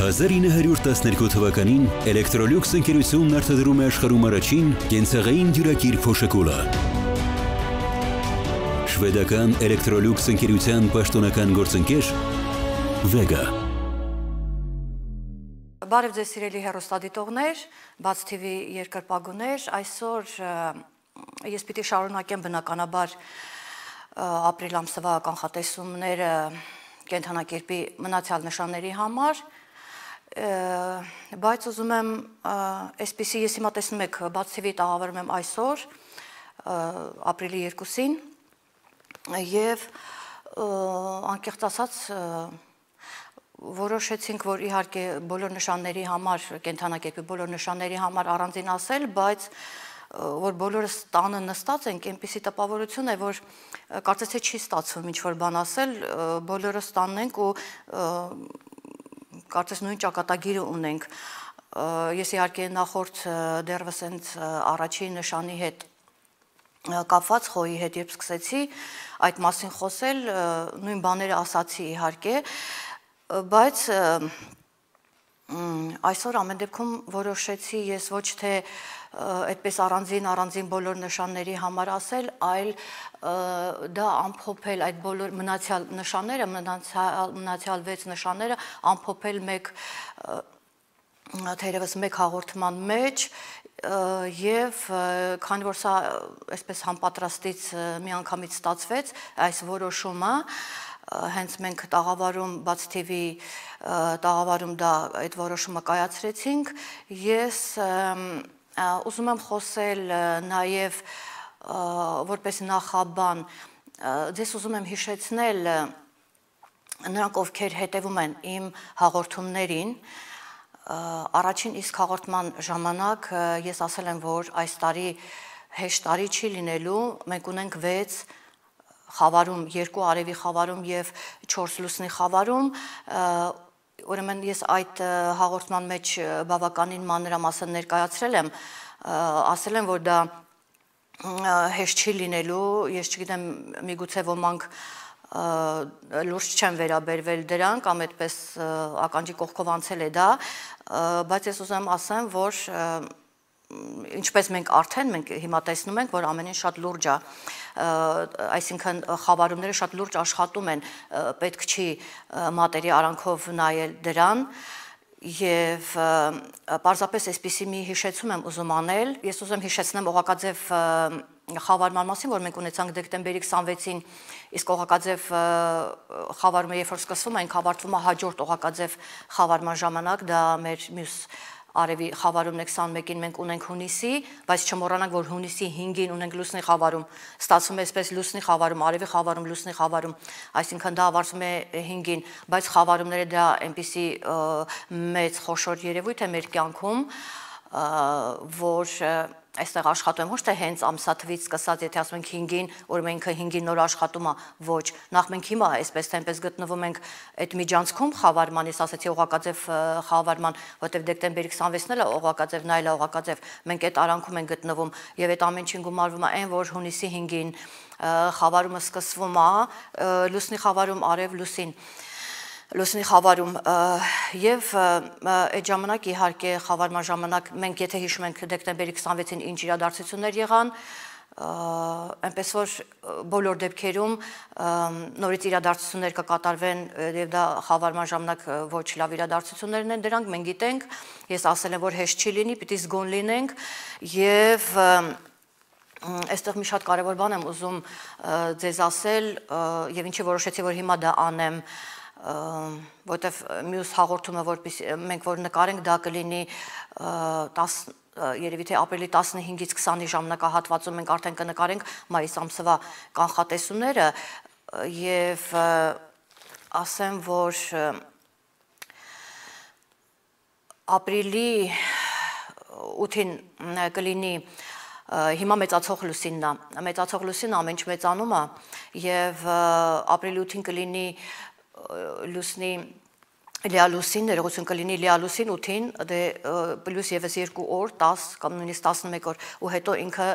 1912 թվականին Էլեկտրոլյուքս ընկերությունն արտադրում է աշխարհում առաջին կենցաղային դյուրակիր փոշակուլը։ Շվեդական Էլեկտրոլյուքս ընկերության պաշտոնական գործընկեր Vega։ Բարև ձեզ սիրելի հեռուստադիտողներ, Բաց TV երկրպագուներ, այսօր ես պիտի շարունակեմ բնականաբար ապրիլ ամսվա կանխատեսումները կենդանակերպի մնացյալ նշանների համար, բայց ուզում եմ այսպիսի, ես հիմա տեսնում եք Բաց TV տաղավարում եմ այսօր ապրիլի 2-ին եւ անկեղծ ասած որոշեցինք, որ իհարկե բոլոր նշանների համար, կենդանակերպի բոլոր նշանների համար առանձին ասել, բայց որ բոլորս տանը նստած ենք, այնպիսի տպավորություն է, որ կարծես թե չի ստացվում ինչ-որ բան ասել, բոլորս տանն ենք ու կարծես նույն ճակատագիրը ունենք։ Ես իհարկե նախորդ դեռևս հենց առաջին նշանի հետ կապված խոյի հետ երբ սկսեցի այդ մասին խոսել, նույն բաները ասացի իհարկե, բայց այսօր ամեն դեպքում որոշեցի ես ոչ թե այդպես առանձին բոլոր նշանների համար ասել, այլ դա ամփոփել այդ բոլոր մնացյալ նշանները, մնացյալ 6 նշանները ամփոփել թերևս մեկ հաղորդման մեջ եւ քանի որ սա այսպես համապատրաստից միանգամից ստացվեց այս որոշումը, հենց մենք տաղավարում Բաց TV տաղավարում դա այդ որոշումը կայացրեցինք, ես ուզում եմ խոսել նաև որպես նախաբան, ձեզ ուզում եմ հիշեցնել նրանք, ովքեր հետևում են իմ հաղորդումներին, առաջին իսկ հաղորդման ժամանակ ես ասել եմ, որ այս տարի հեշտ տարի չի լինելու, մենք ունենք 6 խավարում, 2 արևի խավարում եւ 4 լուսնի խավարում, ուրեմն ես այդ հաղորդման մեջ բավականին մանրամասն ներկայացրել եմ, ասել եմ, որ դա հեշտ չի լինելու, ես չգիտեմ, միգուցե ոմանք լուրջ չեն վերաբերվել դրան կամ այդպես ականջի կողքով անցել է դա, բայց ես ուզում եմ ասեմ, որ ինչպես մենք հիմա տեսնում ենք, որ ամեն ինչ շատ լուրջ է, այսինքն խավարումները շատ լուրջ աշխատում են, պետք չի մատերի արանքով նայել դրան եւ պարզապես այսպիսի մի հիշեցում եմ ուզում անել, ես ուզում հիշեցնեմ Օղակաձև խավարման մասին, որ մենք ունեցանք դեկտեմբերի 26-ին, իսկ Օղակաձև խավարումը երբ որ սկսվում է, ավարտվում է հաջորդ Օղակաձև խավարման ժամանակ, դա մեր մյուս արևի խավարումն է 21-ին մենք ունենք հունիսի, բայց չմոռանանք, որ հունիսի 5-ին ունենք լուսնի խավարում, ստացվում է այսպես լուսնի խավարում, արևի խավարում, լուսնի խավարում, այսինքն դա ավարտվում է 5-ին, բայց խավարումները դա այնպիսի մեծ խոշոր երևույթ է մեր կյանքում, որ այստեղ աշխատում եմ, ոչ թե հենց ամսաթվից սկսած, եթե ասում ենք 5-ին, որ ինքը 5-ին նոր աշխատում է, ոչ, նախ մենք հիմա այսպես թե այնպես գտնվում ենք այդ միջանցքում խավարման, ես ասացի Օղակաձև խավարման, որտեղ դեկտեմբերի 26-ն էլ Օղակաձևն այլ Օղակաձև, մենք այդ արանքում ենք գտնվում եւ այդ ամեն ինչին գումարվում է այն, որ հունիսի 5-ին խավարումը սկսվում է, լուսնի խավարում արև լուսին լուսնի խավարում եւ այդ ժամանակ իհարկե խավարման ժամանակ մենք եթե հիշում ենք դեկտեմբերի 26-ին ինչ իրադարձություններ եղան, այնպես որ բոլոր դեպքերում նորից իրադարձություններ կկատարվեն եւ դա խավարման ժամանակ ոչ լավ իրադարձություններն են դրանք, մենք գիտենք, ես ասել եմ, որ հեշտ չի լինի, պիտի զգոն լինենք եւ այստեղ մի շատ կարեւոր բան եմ ուզում ձեզ ասել եւ ինչի որոշեցի, որ հիմա դա անեմ, որտեվ մյուս հաղորդումը, որպես մենք որ նկարենք, դա կլինի երևի թե ապրիլի 15-ից 20-ի ժամանակահատվածում մենք արդեն կնկարենք մայիս ամսվա կանխատեսումները եւ ասեմ, որ ապրիլի 8-ին կլինի հիմա մեծացող լուսինն է, մեծացող լուսինը ամեն ինչ մեծանում է եւ ապրիլի 8-ին կլինի լուսնի լիալուսին, ներողություն կլինի լիալուսին 8-ին, դե պլյուս եւս 2 օր, 10 կամ նույնիսկ 11 օր, ու հետո ինքը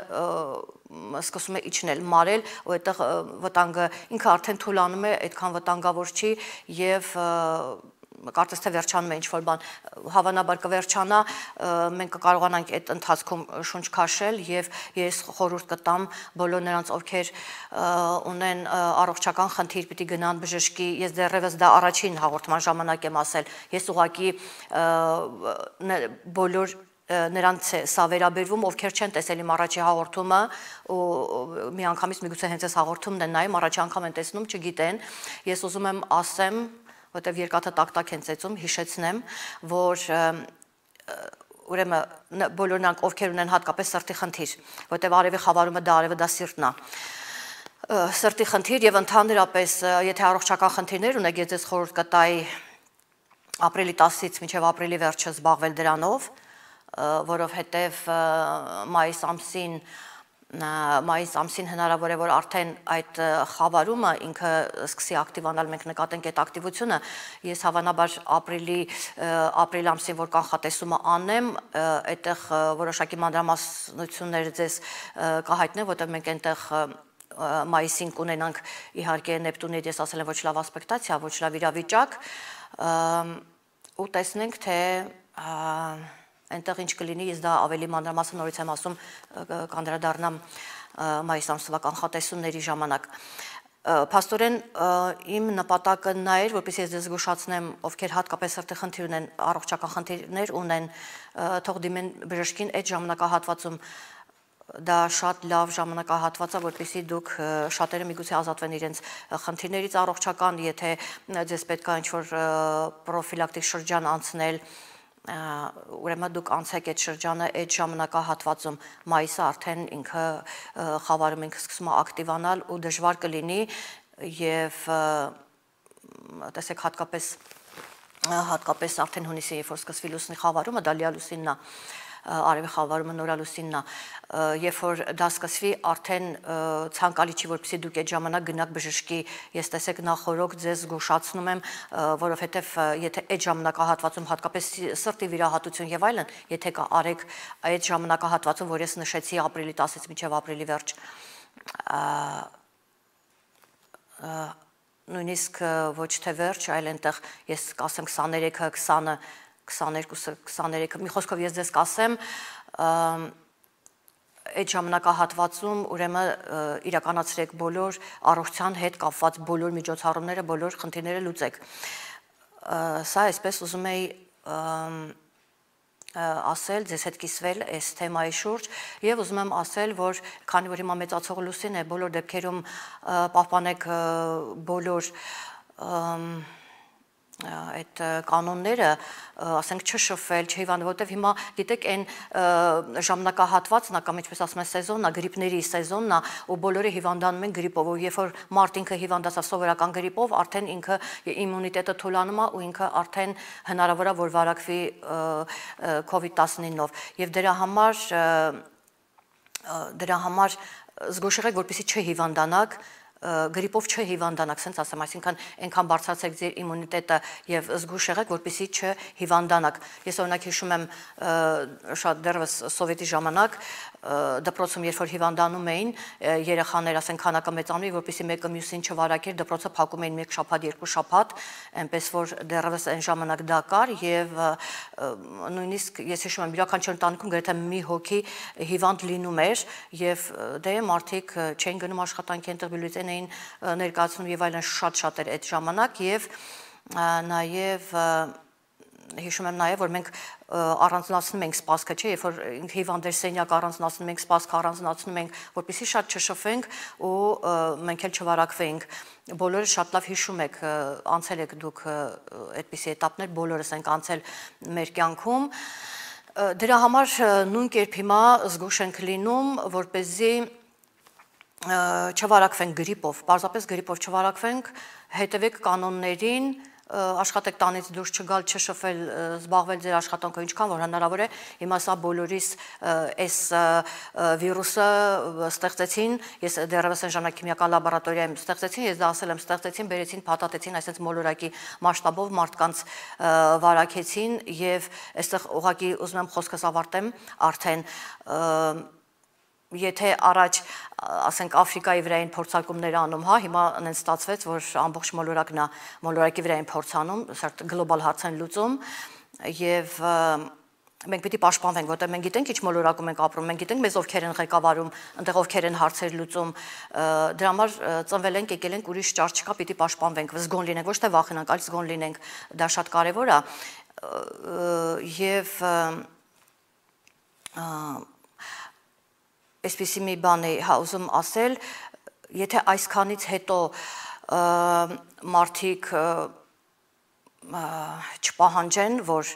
սկսում է իջնել, մարել, ու այդտեղ վտանգը ինքը արդեն թուլանում է, այդքան վտանգավոր չի եւ կարծես թե վերջանում է ինչ-որ բան, հավանաբար կվերջանա, մենք կկարողանանք այդ ընթացքում շունչ քաշել եւ ես խորհուրդ կտամ բոլոր նրանց, ովքեր ունեն առողջական խնդիր, պիտի գնան բժշկի, ես դեռևս դա առաջին հաղորդման ժամանակ եմ ասել, ես ուղղակի բոլոր նրանց սա վերաբերվում, ովքեր չեն տեսել իմ առաջի հաղորդումը ու միանգամից միգուցե հենց այս հաղորդումն են նայում, առաջի անգամ են տեսնում, չգիտեն, ես ուզում եմ ասեմ, որտեվ երկաթը տակ-տակ են ծեծում, հիշեցնեմ, որ ուրեմն բոլոր նրանք, ովքեր ունեն հատկապես սրտի խնդիր, որտեվ արևի խավարումը դա սիրտն է, սրտի խնդիր եւ ընդհանրապես, եթե առողջական խնդիրներ ունեք, ես ձեզ խորհուրդ կտայի ապրիլի 10-ից մինչև ապրիլի վերջը զբաղվել դրանով, որովհետև մայիս ամսին հնարավոր է, որ արդեն այդ խավարումը ինքը սկսի ակտիվանալ, մենք նկատենք այդ ակտիվությունը, ես հավանաբար ապրիլ ամսին, որ կանխատեսումը անեմ, այդտեղ որոշակի մանրամասնություններ ձեզ կհայտնեմ, որտեղ մենք այնտեղ մայիսին կունենանք իհարկե Նեպտունի, ես ասել եմ, ոչ լավ ասպեկտացիա, ոչ լավ իրավիճակ, ու տեսնենք, թե այնտեղ ինչ կլինի, ես դա ավելի մանրամասն նորից եմ ասում, կանդրադառնամ մայիս ամսվա կանխատեսումների ժամանակ։ Փաստորեն իմ նպատակը նա էր, որպեսզի ես ձեզ զգուշացնեմ, ովքեր հատկապես սրտի խնդիր ունեն, առողջական խնդիրներ ունեն, թող դիմեն բժշկին այդ ժամանակահատվածում, դա շատ լավ ժամանակահատված է, որպեսզի դուք շատերը միգուցե ազատվեն իրենց խնդիրներից առողջական, եթե ձեզ պետք է ինչ-որ պրոֆիլակտիկ շրջան անցնել, ուրեմն դուք անցեք այդ շրջանը այդ ժամանակահատվածում, մայիսը արդեն ինքը խավարում ինքը սկսում է ակտիվանալ ու դժվար կլինի եւ տեսեք հատկապես արդեն հունիսի, երբ որ սկսվի լուսնի խավարումը, դա լիալուսինն է, արևի խավարումը նորալուսինն է, երբ որ դա սկսվի, արդեն ցանկալի չի, որպեսզի դուք այդ ժամանակ գնաք բժշկի, ես տեսեք նախորոք ձեզ զգուշացնում եմ, որովհետև եթե այդ ժամանակահատվածում հատկապես սրտի վիրահատություն եւ այլն, եթե կա արեք այդ ժամանակահատվածում, որ ես նշեցի ապրիլի 10-ից մինչև ապրիլի վերջ, նույնիսկ ոչ թե վերջ, այլ այնտեղ ես կասեմ 23-ը, 20-ը 22-23, մի խոսքով ես ձեզ կասեմ, այդ ժամանակահատվածում ուրեմն իրականացրեք բոլոր առողջության հետ կապված բոլոր միջոցառումները, բոլոր խնդիրները լուծեք։ Սա այսպես ուզում էի ասել, ձեզ հետ կիսվել այս թեմայի շուրջ եւ ուզում եմ ասել, որ քանի որ հիմա մեծացող լուսին է, բոլոր դեպքերում պահպանեք բոլոր այդ կանոնները, ասենք չշփվել, չհիվանդվել, որտեվ հիմա գիտեք այն ժամանակահատվածն է կամ ինչպես ասում են սեզոնն է, գրիպների սեզոնն է, ու բոլորը հիվանդանում են գրիպով, ու երբ որ մարդ ինքը հիվանդացա սովորական գրիպով, արդեն ինքը իմունիտետը թուլանում է ու ինքը արդեն հնարավոր է որ վարակվի COVID-19-ով, եւ դրա համար զգուշ եղեք, որպեսզի չհիվանդանաք, գրիպով չհիվանդանաք, ասենց ասեմ, այսինքն այնքան բարձրացեք ձեր իմունիտետը եւ զգուշ եղեք, որպեսզի չհիվանդանաք։ Ես օրինակ հիշում եմ շատ դեռևս սովետի ժամանակ դպրոցում երբ որ հիվանդանում էին երեխաներ, ասենք քանակը մեծանում, որպեսզի մեկը մյուսին չվարակեր, դպրոցը փակում էին 1 շաբաթ, 2 շաբաթ, այնպես որ դեռևս այն ժամանակ դա կար եւ նույնիսկ ես հիշում եմ յուրաքանչյուր ընտանիքում գրեթե մի հոգի հիվանդ լինում էր եւ դե մարդիկ չէին գնում աշխատանքի, այնտեղ բյուլետեն էին ներկայացնում եւ այլն, շատ էր այդ ժամանակ եւ նաեւ հիշում եմ նաև, որ մենք առանձնացնում ենք սպասքը, չէ, երբ որ հիվանդեր սենյակ առանձնացնում ենք, սպասքը առանձնացնում ենք, որպեսզի շատ չշփվենք ու մենք էլ չվարակվենք։ Բոլորը շատ լավ հիշում եք, անցել եք դուք այդպիսի էտապներ, բոլորս ենք անցել մեր կյանքում։ Դրա համար նույն կերպ հիմա զգուշ ենք լինում, որպեսզի չվարակվենք գրիպով, պարզապես գրիպով չվարակվենք, հետևեք կանոններին, աշխատեք տանից դուրս չգալ, չշփվել, զբաղվել ձեր աշխատանքով ինչքան որ հնարավոր է։ Հիմա սա բոլորիս այս վիրուսը ստեղծեցին, ես դեռևս այն ժամանակ քիմիական լաբորատորիայում ստեղծեցին, ես դա ասել եմ, ստեղծեցին, բերեցին, փաթաթեցին, այսպես մոլորակի մասշտաբով մարդկանց վարակեցին եւ այստեղ ուղղակի ուզում եմ խոսքս ավարտեմ արդեն եթե առաջ ասենք Աֆրիկայի վրա են փորձարկումներ անում, հա, հիմա այնց ստացվեց, որ ամբողջ մոլորակն է, մոլորակի վրա են փորձանում, սարտ գլոբալ հարց են լուծում եւ մենք պիտի պաշտպանվենք, որտեղ մենք գիտենք ինչ մոլորակում ենք ապրում, մենք գիտենք մեզ ովքեր են ղեկավարում, այնտեղ ովքեր են հարցեր լուծում, դրա համար ծնվել ենք, եկել ենք, ուրիշ ճար չկա, պիտի պաշտպանվենք, զգոն լինենք, ոչ թե վախենանք, այլ զգոն լինենք, դա շատ կարևոր է եւ այսպիսի մի բան է ուզում ասել, եթե այսքանից հետո մարդիկ չպահանջեն, որ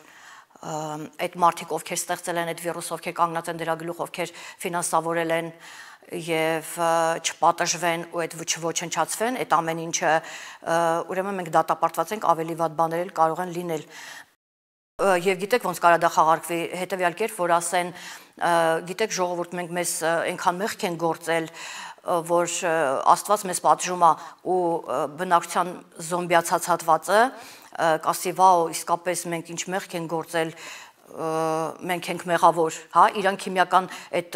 այդ մարդիկ, ովքեր ստեղծել են այդ վիրուսը, ովքեր կանգնած են դրա գլուխ, ովքեր ֆինանսավորել են եւ չպատժվեն ու այդ չոչնչացվեն, այդ ամեն ինչը ուրեմն մենք դատապարտված ենք, ավելի վատ բաներ էլ կարող են լինել։ Եվ գիտեք ոնց կարա դա խաղարկվի, հետեւյալ կերպ, որ ասեն, գիտեք ժողովուրդ, մենք մեզ այնքան մեղք են գործել, որ Աստված մեզ պատժում է ու բնակչության զոմբիացած հատվածը կասի վաո, իսկապես մենք ինչ մեղք են գործել, մենք ենք մեղավոր, հա, իրանք քիմիական այդ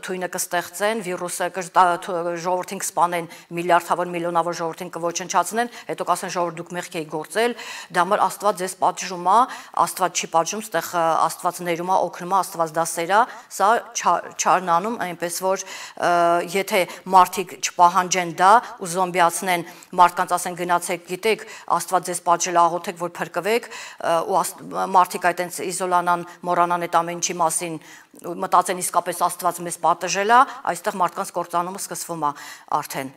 թույնը կստեղծեն, վիրուսը ժողովրդին կսպանեն, միլիարդավոր, միլիոնավոր ժողովրդին կոչնչացնեն, հետո կասեն ժողովուրդ դուք մեղք եք գործել, դա համար Աստված ձեզ պատժում է, Աստված չի պատժում, ստեղ Աստված ներում է, օգնում է, Աստված դա սեր է, սա չարն անում, այնպես որ եթե մարդիկ չպահանջեն դա ու զոմբիացնեն, մարդկանց ասեն գնացեք, գիտեք, Աստված ձեզ պատժել է, աղոթեք, որ փրկվեք, ու մարդիկ այտենց իզոլանան, մոռանան այդ ամեն ինչի մասին, մտածեն իսկապես Աստված մեզ պատժել է, այստեղ մարդկանց կործանումը սկսվում է արդեն։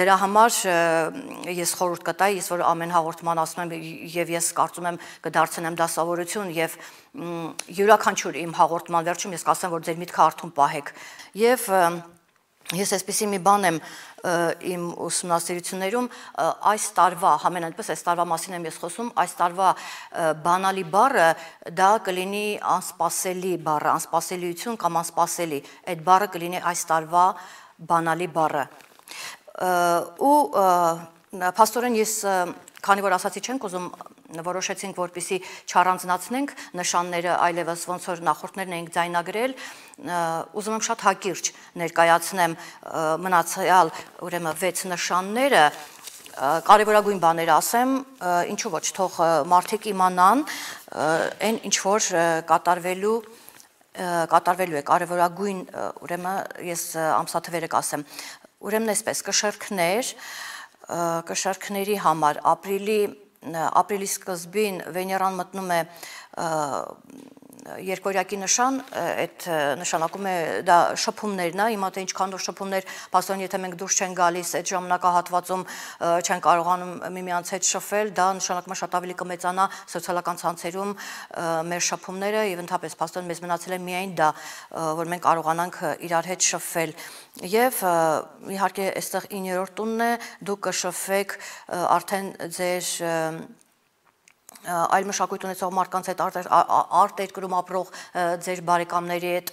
Դրա համար ես խորհուրդ կտայի, ես որ ամեն հաղորդման ասում եմ եւ ես կարծում եմ կդարձնեմ դասավորություն եւ յուրաքանչյուր իմ հաղորդման վերջում ես կասեմ, որ ձեր միտքը արթուն պահեք։ Եվ ես այսպեսի մի բան եմ իմ ուսումնասիրություններում այս տարվա, համեն այնպես այս տարվա մասին եմ ես խոսում, այս տարվա բանալի բառը դա կլինի անսպասելի բառը, անսպասելիություն կամ անսպասելի, այդ բառը կլինի այս տարվա բանալի բառը։ Ու փաստորեն ես քանի որ ասացի չենք ուզում որոշեցինք որպեսի չառանձնացնենք նշանները այլևս ոնց որ նախորդներն էինք ձայնագրել ուզում եմ շատ հակիրճ ներկայացնեմ մնացյալ ուրեմն 6 նշանները կարևորագույն բաներ ասեմ ինչու ոչ թող մարդիկ իմանան այն ինչ որ կատարվելու է կարևորագույն ուրեմն ես ամսաթվերը կասեմ ուրեմն այսպես կշարքների համար ապրիլի սկզբին Վեներան մտնում է երկորյակի նշան, այդ նշանակում է դա շփումներն է, հիմա թե ինչքան որ շփումներ, փաստորեն եթե մենք դուրս չեն գալիս այդ ժամանակահատվածում չեն կարողանում միմյանց հետ շփվել, դա նշանակում է շատ ավելի կմեծանա սոցիալական ցանցերում մեր շփումները եւ ընդհանրապես փաստորեն մեզ մնացել է միայն դա, որ մենք կարողանանք իրար հետ շփվել եւ իհարկե այստեղ 9-րդ տունն է, դուք կշփվեք արդեն ձեր այլ մշակույթ ունեցող մարդկանց հետ արտերկրում ապրող ձեր բարեկամների հետ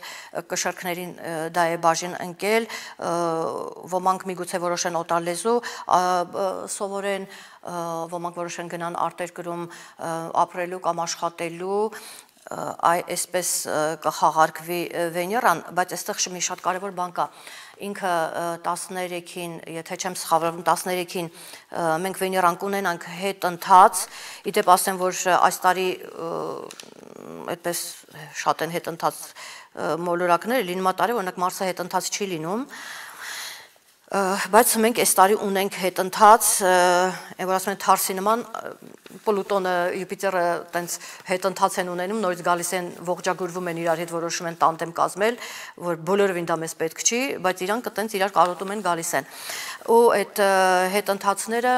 կշարքներին դա է բաժին ընկել ոմանք միգուցե որոշեն օտար լեզու սովորեն ոմանք որոշեն գնան արտերկրում ապրելու կամ աշխատելու այսպես կխաղարկվի Վեներան, բայց այստեղ մի շատ կարևոր բան կա ինքը 13-ին, եթե չեմ սխալվում 13-ին մենք Վեներան կունենանք հետընթաց, իդեպ ասեմ, որ այս տարի այդպես շատ են հետընթաց մոլորակները, լինում է տարի, օրինակ Մարսը հետընթաց չի լինում, բայց մենք այս տարի ունենք հետընթաց, որ ասում են թարսի նման, Պլուտոնը, Յուպիտերը տենց հետընթաց են ունենում, նորից գալիս են ողջագուրվում են իրար հետ որոշում են տանդեմ կազմել, որ բոլորովին դա մեզ պետք չի, բայց իրանք տենց իրար կարոտում են գալիս են։ Ու այդ հետընթացները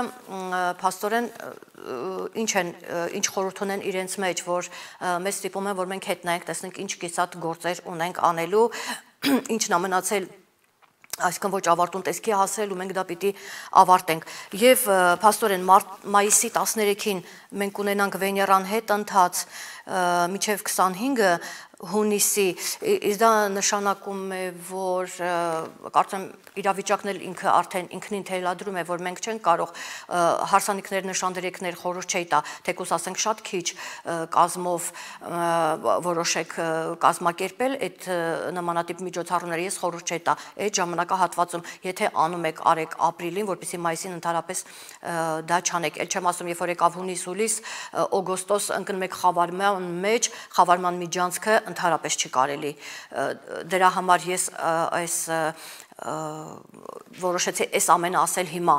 փաստորեն ինչ խորհուրդ ունեն իրենց մեջ, որ մեզ ստիպում են, որ մենք հետ նայենք, տեսնենք ինչ կիսատ գործեր ունենք անելու, ինչն է մնացել այսինքն ոչ ավարտուն տեսքի հասել ու մենք դա պիտի ավարտենք եւ փաստորեն մայիսի 13-ին մենք ունենանք Վեներան հետ ընթաց մինչեւ 25-ը հունիսի, իսկ դա նշանակում է, որ կարծեմ իրավիճակն էլ ինքը արդեն ինքնին թելադրում է, որ մենք չենք կարող հարսանիքներ, նշանդրեկներ խորհուրդ չի տա, թեկուզ ասենք շատ քիչ կազմով որոշեք կազմակերպել այդ նմանատիպ միջոցառումները, ես խորհուրդ չի տա այդ ժամանակահատվածում, եթե անում եք արեք ապրիլին, որպեսզի մայիսին ընդհանրապես դա չանեք, ել չեմ ասում, երբ որ եկավ հունիս, հուլիս, օգոստոս ընկնում եք խավարման մեջ, խավարման միջանցքը ընդհանրապես չի կարելի, դրա համար ես այս որոշեցի այս ամենը ասել հիմա,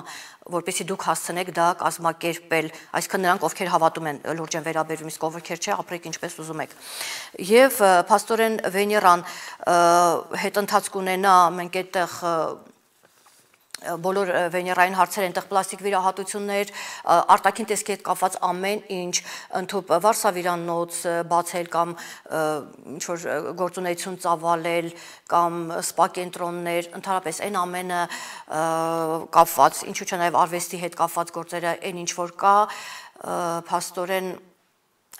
որպեսզի դուք հասցնեք դա կազմակերպել, այսինքն նրանք, ովքեր հավատում են լուրջ են վերաբերվում, իսկ ովքեր չէ, ապրեք ինչպես ուզում եք։ Եվ փաստորեն Վեներան հետընթաց կունենա, մենք այդտեղ բոլոր վեներային հարցեր, այնտեղ պլաստիկ վիրահատություններ, արտաքին տեսքի հետ կապված ամեն ինչ, ընդհանուր վարսավիրանոց բացել կամ ինչ-որ գործունեություն ծավալել կամ սպա կենտրոններ, ընդհանրապես այն ամենը կապված, ինչու՞ չէ նաև արվեստի հետ կապված գործերը, այն ինչ որ կա, փաստորեն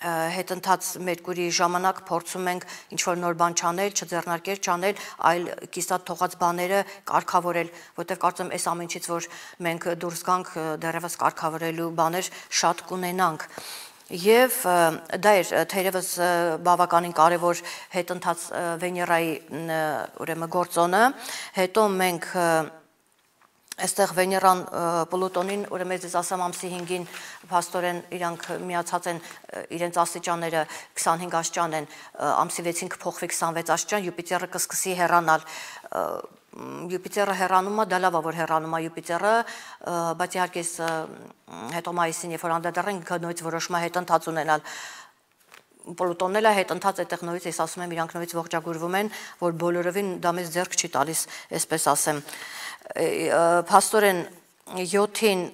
հետընթաց Մերկուրիի ժամանակ փորձում ենք ինչ-որ նոր բան չանել, չձեռնարկել, չանել, այլ կիսատ թողած բաները կարգավորել, որտեղ կարծում այս ամեն ինչից, որ մենք դուրս գանք, դեռևս կարգավորելու բաներ շատ կունենանք։ Եվ դա էր թերևս բավականին կարևոր հետընթաց Վեներայի ուրեմն գործոնը, հետո մենք Այստեղ Վեներան Պլուտոնին, ուրեմն ես ասամ ամսի 5-ին փաստորեն իրանք միացած են իրենց աստիճանները 25 աստիճան են, ամսի 6-ին կփոխվի 26 աստիճան, Յուպիտերը կսկսի հեռանալ։ Յուպիտերը հեռանում է, դա լավ է որ հեռանում է Յուպիտերը, բայց իհարկե հետո մայիսին, երբ որ անդրադառնանք նույնից որոշում է հետընթաց ունենալ։ Պլուտոնն էլ է հետընթաց այդտեղ նույնից ես ասում եմ իրանք նույնից ողջագուրվում են, որ բոլորովին դա մեզ ձեռք չի տալիս, այսպես ասեմ։ Փաստորեն 7-ին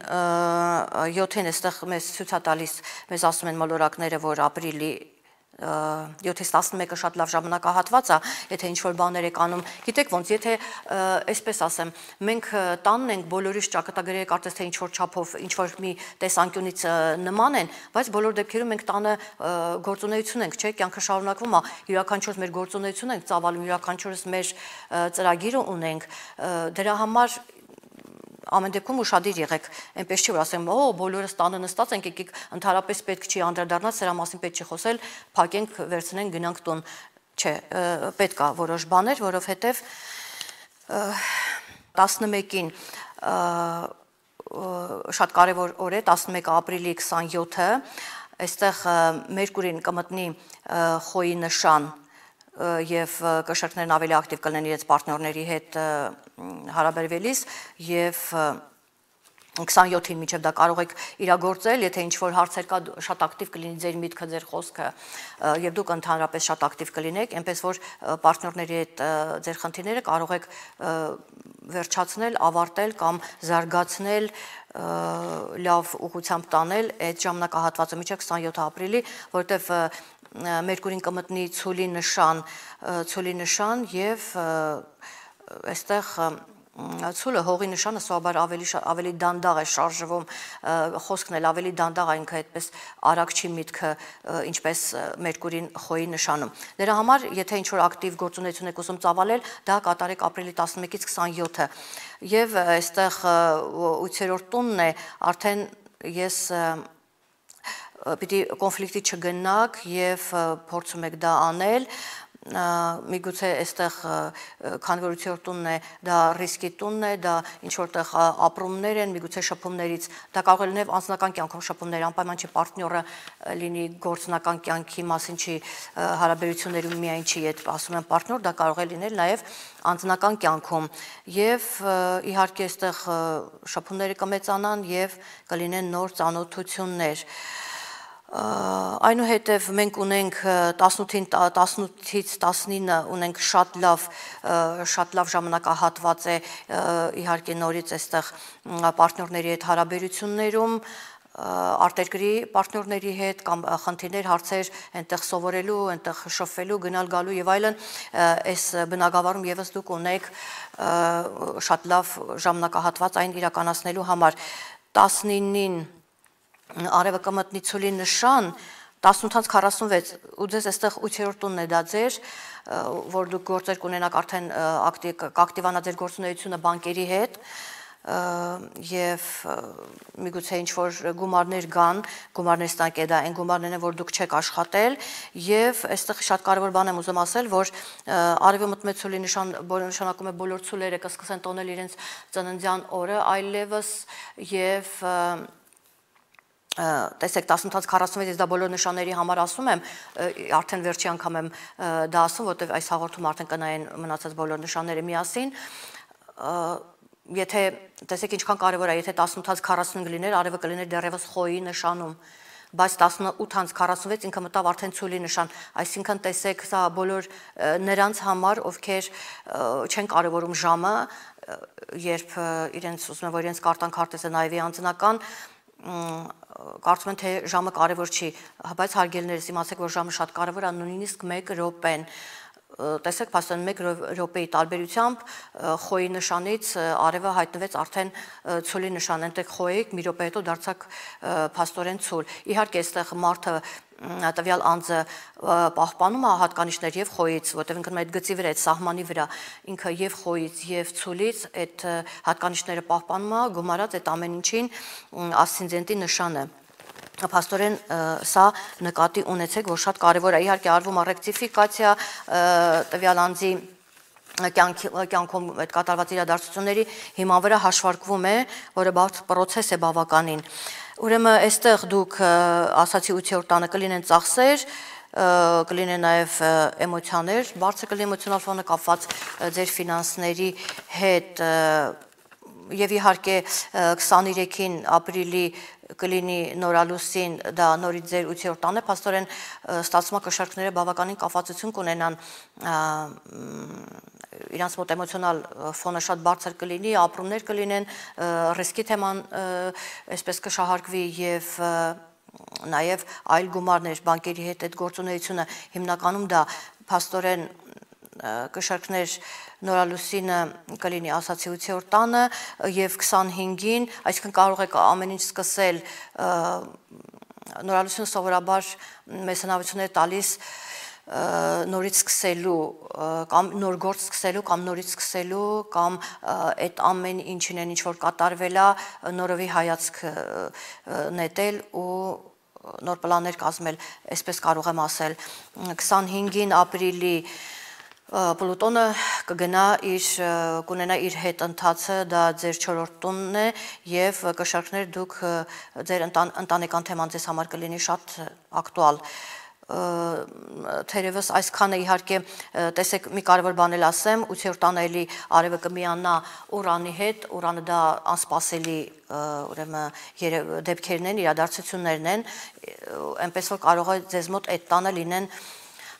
այստեղ մեզ ցույց է տալիս, մեզ ասում են մոլորակները, որ ապրիլի 7-ից 11-ը շատ լավ ժամանակահատված է, եթե ինչ-որ բաներ եք անում, գիտեք ոնց, եթե այսպես ասեմ, մենք տանն ենք բոլորիս ճակատագրերը կարծես թե ինչ-որ չափով, ինչ-որ մի տեսանկյունից նման են, բայց բոլոր դեպքերում մենք տանը գործունեություն ենք, չէ, կյանքը շարունակվում է, յուրաքանչյուրս մեր գործունեություն ենք ծավալում, յուրաքանչյուրս մեր ծրագիրը ունենք, դրա համար ամեն դեպքում ուշադիր եղեք, այնպես չի որ ասեմ, բոլորս տանը նստած ենք, եկեք ընդհանրապես պետք չի անդրադառնալ, սրա մասին պետք չի խոսել, փակենք, վերցնենք, գնանք տուն, չէ, պետք է որոշ բաներ, որովհետև 11-ին շատ կարևոր օր է, 11 ապրիլի 27-ը, այստեղ Մերկուրին կմտնի խոյի նշան և կշերքներն ավելի ակտիվ կլինեն իրենց պարտնյորների հետ հարաբերվելիս և 27-ին մինչև դա կարող եք իրագործել, եթե ինչ-որ հարցեր կա, շատ ակտիվ կլինի ձեր միտքը, ձեր խոսքը և դուք ընդհանրապես շատ ակտիվ կլինեք, այնպես որ պարտնյորների հետ ձեր խնդիրները կարող եք վերջացնել, ավարտել կամ զարգացնել, լավ ուղղությամբ տանել այդ ժամանակահատվածը մինչև 27 ապրիլի, որովհետև Մերկուրին կմտնի ցուլի նշան և այստեղ ցուլը հողի նշանը սովորաբար ավելի դանդաղ է շարժվում, խոսքն էլ ավելի դանդաղ է, ինքը այդպես արագ չի միտքը, ինչպես Մերկուրին խոյի նշանում։ Դրա համար, եթե ինչ-որ ակտիվ գործունեություն եք ուզում ծավալել, դա կատարեք ապրիլի 11-ից 27-ը։ Եվ այստեղ 8-րդ տունն է, արդեն ես պիտի կոնֆլիկտի չգնաք և փորձում եք դա անել, միգուցե այստեղ քանի որ 8-րդ տունն է, դա ռիսկի տունն է, դա ինչ-որտեղ ապրումներ են, միգուցե շփումներից, դա կարող է լինել անձնական կյանքում շփումներ, անպայման չի պարտնյորը լինի գործնական կյանքի մասին չի, հարաբերություններում միայն չի, այդ ասում եմ պարտնյոր, դա կարող է լինել նաև անձնական կյանքում և իհարկե այստեղ շփումները կմեծանան և կլինեն նոր ծանոթություններ։ Այնուհետև մենք ունենք 18-ից 19 ունենք շատ լավ ժամանակահատված է իհարկե նորից այստեղ պարտնյորների հետ հարաբերություններում, արտերկրի պարտնյորների հետ կամ խնդիրներ, հարցեր այնտեղ սովորելու, այնտեղ շփվելու, գնալ գալու եւ այլն, այս բնակավարում եւս դուք ունեք շատ լավ ժամանակահատված այն իրականացնելու համար 19-ին Արևը կմտնի ցուլի նշան, 18:46 ու ձեզ այստեղ 8-րդ տունն է դա ձեր, որ դուք գործեր կունենաք արդեն կակտիվանա ձեր գործունեությունը բանկերի հետ եւ միգուցե ինչ որ գումարներ գան, գումարներ ստանք է դա այն գումարներն են, որ դուք չեք աշխատել եւ այստեղ շատ կարեւոր բան եմ ուզում ասել, որ արևի մտմեցուլի նշանակում է բոլոր ցուլերը կսկսեն տոնել իրենց ծննդյան օրը այլևս եւ տեսեք 18:46 ես դա բոլոր նշանների համար ասում եմ, արդեն վերջի անգամ եմ դա ասում, որտեղ այս հաղորդումը արդեն կնայեն մնացած բոլոր նշանները միասին, եթե տեսեք ինչքան կարևոր է, եթե 18:45 լիներ, արևը կլիներ դեռևս խոյի նշանում, բայց 18:46 ինքը մտավ արդեն ցուլի նշան, այսինքն տեսեք, սա բոլոր նրանց համար, ովքեր չեն կարևորում ժամը, երբ իրենց ուզում են, որ իրենց կարտան քարտեզը նայվի անձնական, կարծում են թե ժամը կարևոր չի, բայց հարգելիներս իմացեք, որ ժամը շատ կարևոր է, նույնիսկ 1 րոպեն, տեսեք, փաստորեն 1 րոպեի տարբերությամբ խոյի նշանից արևը հայտնվեց արդեն ցուլի նշան, այնտեղ խոյիկ մի րոպե հետո դարձակ փաստորեն ցուլ։ Իհարկե այստեղ մարդը տվյալ անձը պահպանում է հատկանիշներ եւ խոյից, որտեղ ինքն այդ գծի վրա, այդ սահմանի վրա ինքը եւ խոյից եւ ցուլից այդ հատկանիշները պահպանում է, գումարած այդ ամեն ինչին ասցենդենտի նշանը։ Փաստորեն սա նկատի ունեցեք, որ շատ կարևոր է, իհարկե արվում է ռեկտիֆիկացիա տվյալ անձի կյանքում այդ կատարված իրադարձությունների հիման վրա հաշվարկվում է, որը բարդ պրոցես է բավականին։ Ուրեմն այստեղ դուք ասացի 8-րդ տանը կլինեն ծախսեր, կլինեն նաև էմոցիաներ, բարձր կլինի էմոցիոնալ ֆոնը կապված ձեր ֆինանսների հետ եւ իհարկե 23-ին ապրիլի կլինի նորալուսին, դա նորից ձեր 8-րդ տանը, փաստորեն ստացվում է կշարքները բավականին կապվածություն կունենան իրանց մոտ էմոցիոնալ ֆոնը շատ բարձր կլինի, ապրումներ կլինեն, ռիսկի թեման այսպես կշահարկվի եւ նաեւ այլ գումարներ բանկերի հետ այդ գործունեությունը հիմնականում դա փաստորեն կշարքներ նորալուսինը կլինի ասացի 8-րդ տանը եւ 25-ին, այսինքն կարող եք ամեն ինչ սկսել նորալուսինը սովորաբար մեզ հնարավորություն է տալիս նորից սկսելու կամ նոր գործ սկսելու կամ նորից սկսելու կամ այդ ամեն ինչին ինչ որ կատարվել է նորովի հայացք նետել ու նոր պլաններ կազմել, այսպես կարող եմ ասել 25-ին ապրիլի Պլուտոնը կունենա իր հետ ընթացը, դա ձեր 4-րդ տունն է եւ կշարքներ դուք ձեր ընտանեկան թեման ձեզ համար կլինի շատ ակտուալ։ Թերևս այսքանը իհարկե տեսեք մի կարևոր բան էլ ասեմ 8-րդ տանը էլի արևը կմիանա Ուրանի հետ, Ուրանը դա անսպասելի ուրեմն դեպքերն են, իրադարձություններն են, այնպես որ կարող է ձեզ մոտ այդ տանը լինեն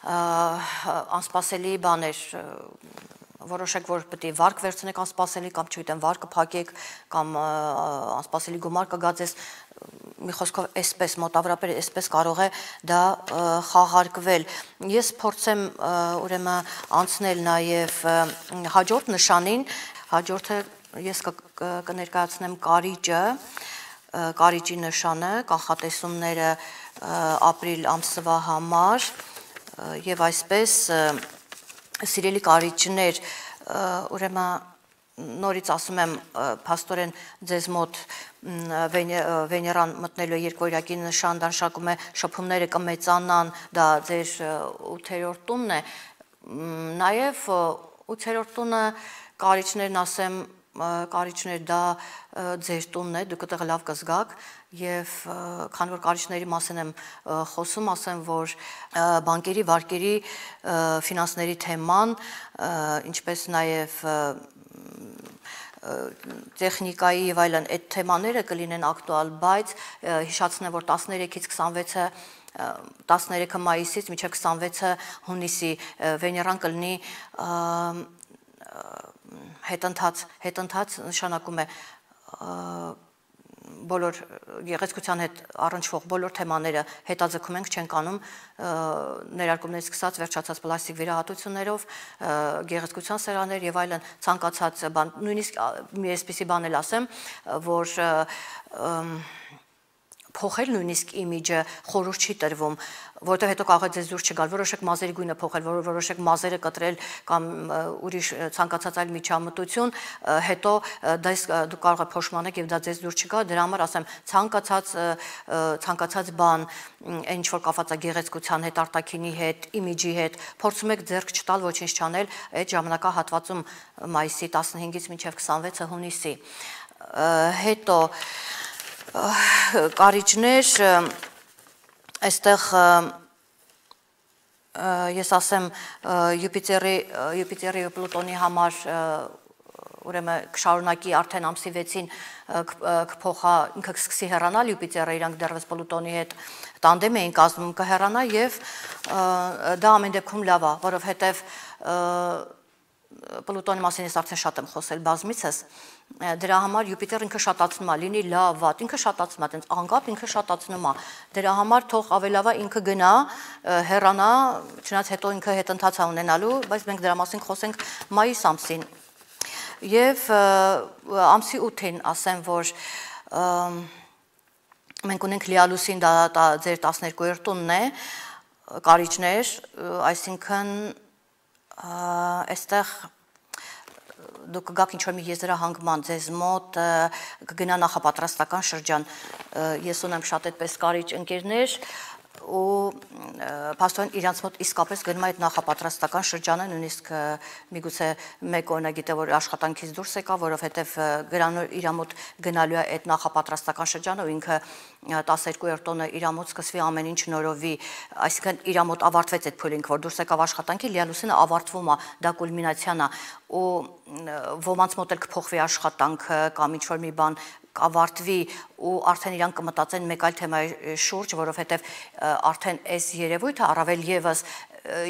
անսպասելի բաներ, որոշեք, որ պետք է վարկ վերցնեք անսպասելի կամ չգիտեմ վարկը փակեք կամ անսպասելի գումար կգա ձեզ, մի խոսքով այսպես մոտավորապես այսպես կարող է դա խաղարկվել։ Ես փորձեմ ուրեմն անցնել նաև հաջորդ նշանին, հաջորդը ես կներկայացնեմ կարիճը, կարիճի նշանը, կանխատեսումները ապրիլ ամսվա համար եւ այսպես սիրելի կարիճներ, ուրեմն նորից ասում եմ փաստորեն ձեզ մոտ Վեներան մտնելու երկորյակի նշան դա նշանակում է շփումները կմեծանան, դա ձեր 8-րդ տունն է, նաեւ 8-րդ տունը կարիճներն ասեմ կարիճներ դա ձեր տունն է, դուք այդտեղ լավ կզգաք եւ քանի որ կարիճների մասին եմ խոսում, ասեմ, որ բանկերի, վարկերի, ֆինանսների թեման, ինչպես նաեւ տեխնիկայի եւ այլն այդ թեմաները կլինեն ակտուալ, բայց հիշացնեմ, որ 13-ից 26-ը 13 մայիսից մինչև 26-ը հունիսի Վեներան կլինի հետընթաց նշանակում է բոլոր գեղեցկության հետ առնչվող բոլոր թեմաները հետաձգում ենք չենք անում ներարկումներից սկսած վերջացած պլաստիկ վիրահատություններով, գեղեցկության սերաներ եւ այլն ցանկացած բան, նույնիսկ մի այսպիսի բան էլ ասեմ, որ փոխել նույնիսկ իմիջը խորհուրդ չի տրվում, որովհետև հետո կարող է ձեզ դուրս չգալ, որոշեք մազերի գույնը փոխել, որոշեք մազերը կտրել կամ ուրիշ ցանկացած այլ միջամտություն, հետո դուք կարող եք փոշմանեք եւ դա ձեզ դուրս չգա, դրա համար ասեմ ցանկացած բան, ինչ որ կապված է գեղեցկության հետ, արտաքինի հետ, իմիջի հետ, փորձում եք ձեռք չտալ, ոչինչ չանել այդ ժամանակահատվածում մայիսի 15-ից մինչև 26-ը հունիսի։ Հետո կարիճներ, այստեղ ես ասեմ Յուպիտերի ու Պլուտոնի համար ուրեմն կշարունակի արդեն ամսի 6-ին կփոխա ինքը կսկսի հեռանալ Յուպիտերը, իրանք դեռևս Պլուտոնի հետ տանդեմ էին կազմում, կհեռանա եւ դա ամեն դեպքում լավ է, որովհետեւ Պլուտոնի մասին ես արդեն շատ եմ խոսել բազմիցս, դրա համար Յուպիտերը ինքը շատացնում է, լինի լավ, վատ, ինքը շատացնում է, այտենց անկապ ինքը շատացնում է, դրա համար թող ավելավա ինքը գնա, հեռանա, չնայած հետո ինքը հետընթաց է ունենալու, բայց մենք դրա մասին խոսենք մայիս ամսին։ Եվ ամսի 8-ին ասեմ, որ մենք ունենք լիալուսին, դա ձեր 12-րդ տունն է, կարիճներ, այսինքն այստեղ դուք կգաք ինչ-որ մի եզրահանգման ձեզ մոտ, կգնա նախապատրաստական շրջան, ես ունեմ շատ այդպես կարիճ ընկերներ, ու փաստորեն իրանց մոտ իսկապես գնում է այդ նախապատրաստական շրջանը, նույնիսկ միգուցե մեկ օրինակ գիտե որ աշխատանքից դուրս եկա, որովհետև իր մոտ գնալու է այդ նախապատրաստական շրջանը, ու ինքը 12-րդ տոնը իր մոտ սկսվի ամեն ինչ նորովի, այսինքն իր մոտ ավարտվեց այդ փուլինք, որ դուրս եկավ աշխատանքի, լիալուսինը ավարտվում է, դա կուլմինացիան է, ու ոմանց մոտ էլ կփոխվի աշխատանքը կամ ինչ-որ մի բան ավարտվի ու արդեն իրանք կմտածեն մեկ այլ թեմայի շուրջ, որովհետև արդեն այս երևույթը առավել եւս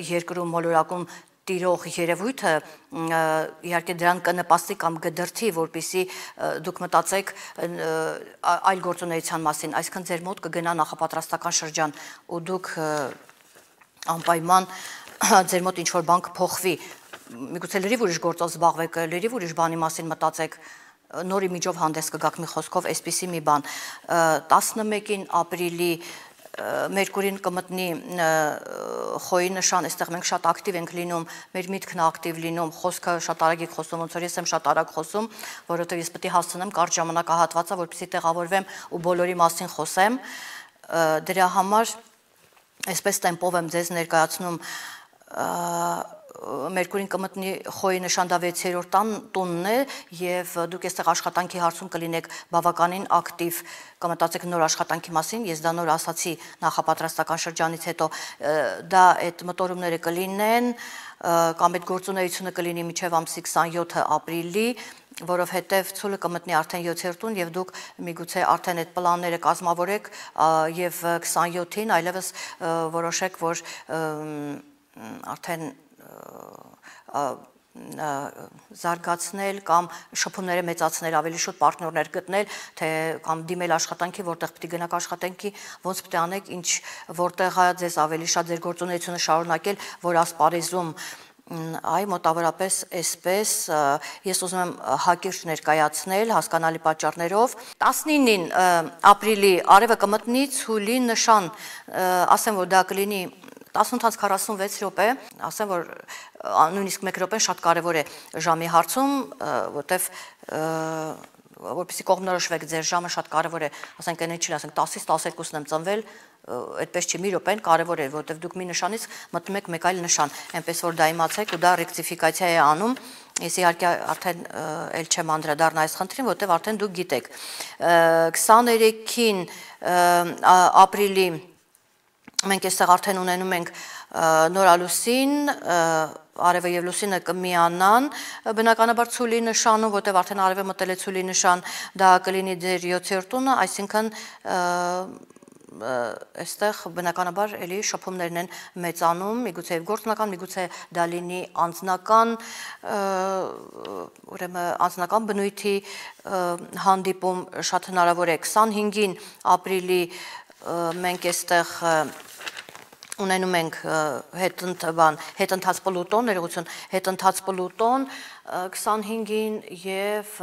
երկրում մոլորակում տիրող երևույթը իհարկե դրան կնպաստի կամ կդրթի, որպեսզի դուք մտածեք այլ գործունեության մասին, այսինքն ձեր մոտ կգնա նախապատրաստական շրջան ու դուք անպայման ձեր մոտ ինչ-որ բան կփոխվի, միգուցե լրիվ ուրիշ գործով զբաղվեք, լրիվ ուրիշ բանի մասին մտածեք, նոր իմիջով հանդես կգաք մի խոսքով, այսպիսի մի բան, 11-ին ապրիլի Մերկուրին կմտնի խոյի նշան, այստեղ մենք շատ ակտիվ ենք լինում, մեր միտքն ակտիվ լինում, խոսքը շատ արագ եք խոսում, ոնց որ ես եմ շատ արագ խոսում, որովհետև ես պետք է հասցնեմ կարճ ժամանակահատվածը, որպեսզի տեղավորվեմ ու բոլորի մասին խոսեմ, դրա համար այսպես տեմպով եմ ձեզ ներկայացնում Մերկուրին կմտնի խոյի նշան, դա 6-րդ տունն է եւ դուք այստեղ աշխատանքի հարցում կլինեք բավականին ակտիվ, կմտածեք նոր աշխատանքի մասին, ես դա նոր ասացի նախապատրաստական շրջանից հետո, դա այդ մտորումները կլինեն կամ այդ գործունեությունը կլինի մինչև ամսի 27 ապրիլի, որովհետև ցուլը կմտնի արդեն 7-րդ տուն եւ դուք միգուցե արդեն այդ պլանները կազմավորեք եւ 27-ին այլևս որոշեք, որ արդեն զարգացնել կամ շփումները մեծացնել, ավելի շուտ պարտներներ գտնել, թե կամ դիմել աշխատանքի, որտեղ պետք է գնաք աշխատանքի, ոնց պետք է անեք, ինչ որտեղ է ձեզ ավելի շատ ձեր գործունեությունը շարունակել, որ ասպարեզում այ մոտավորապես այսպես ես ուզում եմ հակիրճ ներկայացնել հասկանալի պատճառներով 19-ին ապրիլի արևը կմտնի ցուլի նշան, ասեմ որ դա կլինի 18:46 րոպե, ասեմ որ նույնիսկ 1 րոպեն շատ կարևոր է ժամի հարցում, որտեվ որպեսզի կողմնորոշվեք ձեր ժամը շատ կարևոր է, ասենք այն չի, ասենք 10-ից 12-ն եմ ծնվել, այդպես չի մի րոպեն կարևոր է, որտեվ դուք մի նշանից մտնում եք մեկ այլ նշան, այնպես որ դա իմացեք ու դա ռեկտիֆիկացիա է անում, ես իհարկե արդեն էլ չեմ անդրադառնա այս խնդրին, որտեվ արդեն դուք գիտեք 23-ին ապրիլի մենք այստեղ արդեն ունենում ենք նորալուսին, արևը եւ լուսինը կմիանան, բնականաբար ցուլի նշանում, որտեղ արդեն արևը մտել է ցուլի նշան, դա կլինի ձեր 7-րդ տունը, այսինքն այստեղ բնականաբար էլի շփումներն են մեծանում, միգուցե եւ գործնական, միգուցե դա լինի անձնական, ուրեմն անձնական բնույթի հանդիպում շատ հնարավոր է 25-ին ապրիլի մենք այստեղ ունենում ենք հետընթաց Պլուտոն, ներողություն, հետընթաց Պլուտոն 25-ին եւ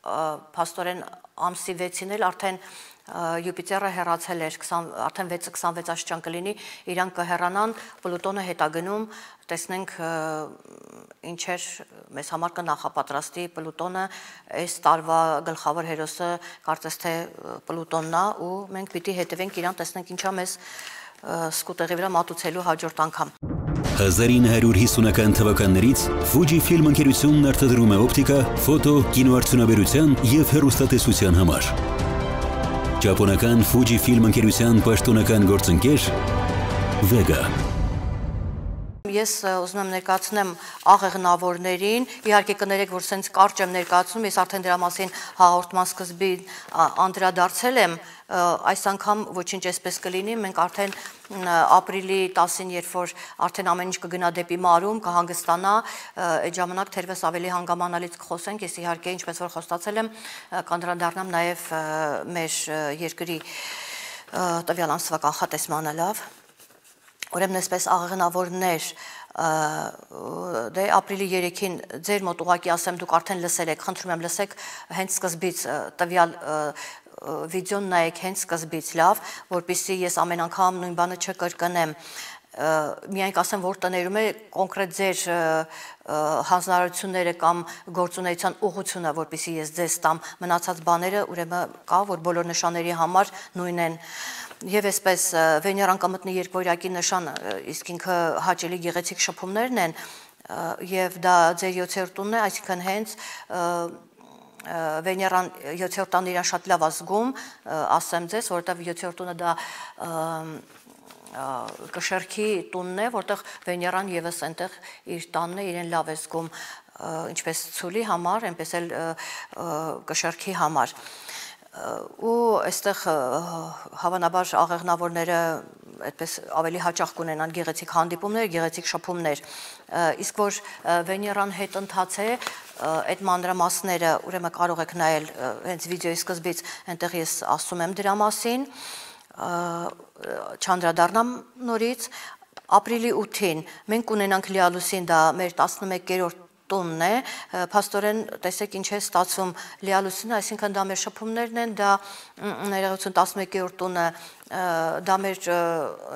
փաստորեն ամսի 6-ին էլ արդեն Յուպիտերը հեռացել էր, արդեն 6-26 աստիճան կլինի, իրանք կհեռանան, Պլուտոնը հետագնում, տեսնենք ինչեր մեզ համար կնախապատրաստի Պլուտոնը, այս տարվա գլխավոր հերոսը կարծես թե Պլուտոնն է ու մենք պիտի հետևենք իրան, տեսնենք ինչա մեզ սկուտեղի վրա մատուցելու հաջորդ անգամ։ 1950-ական թվականներից Fujifilm ընկերությունն արտադրում է օպտիկա, ֆոտո, կինոարդյունաբերության և հեռուստատեսության համար։ Ճապոնական Fujifilm ընկերության պաշտոնական գործընկեր Vega։ Ես ուզում եմ ներկայացնեմ աղեղնավորներին, իհարկե կներեք, որ սենց կարճ եմ ներկայացնում, ես արդեն դրա մասին հաղորդման սկզբին անդրադարձել եմ, այս անգամ ոչինչ այսպես կլինի, մենք արդեն ապրիլի 10-ին, երբ որ արդեն ամեն ինչ կգնա դեպի մարում, կհանգստանա, այդ ժամանակ թերևս ավելի հանգամանալից կխոսենք, ես իհարկե ինչպես որ խոստացել եմ, կանդրադառնամ նաև մեր երկրի տվյալ ամսվա կանխատեսմանը լավ։ Ուրեմն այսպես աղեղնավորներ, դե ապրիլի 3-ին ձեր մոտ ուղղակի ասեմ, դուք արդեն լսել եք, խնդրում եմ լսեք հենց սկզբից տվյալ վիդեոն նայեք հենց սկզբից լավ, որպեսզի ես ամեն անգամ նույն բանը չկրկնեմ, միայն կասեմ, որ տներում է կոնկրետ ձեր հանձնարարությունները կամ գործունեության ուղղությունը, որպեսզի ես ձեզ տամ, մնացած բաները ուրեմն կա, որ բոլոր նշանների համար նույն են։ Եվ այսպես Վեներան կմտնի երկվորյակի նշան, իսկ ինքը հաճելի գեղեցիկ շփումներն են, եւ դա ձեր 7-րդ տունն է, այսինքն հենց Վեներան 7-րդ տանը իրան շատ լավ ազգում, ասեմ ձեզ, որովհետեւ 7-րդ տունը դա կշերքի տունն է, որտեղ Վեներան եւս այնտեղ իր տանն է, իրեն լավ է զգում, ինչպես ցուլի համար, այնպես էլ կշերքի համար։ Ու այստեղ հավանաբար աղեղնավորները այդպես ավելի հաճախ կունենան գեղեցիկ հանդիպումներ, գեղեցիկ շփումներ, իսկ որ Վեներան հետ ընթաց է, այդ մանրամասները ուրեմն կարող եք նայել հենց վիդեոյի սկզբից, այնտեղ ես ասում եմ դրա մասին, չանդրադառնամ նորից, ապրիլի 8-ին մենք կունենանք լիալուսին, դա մեր 11-րդ տունն է, փաստորեն տեսեք ինչ է ստացվում լիալուսինը, այսինքն դա մեր շփումներն են, դա ներողություն 11-րդ տունը, դա մեր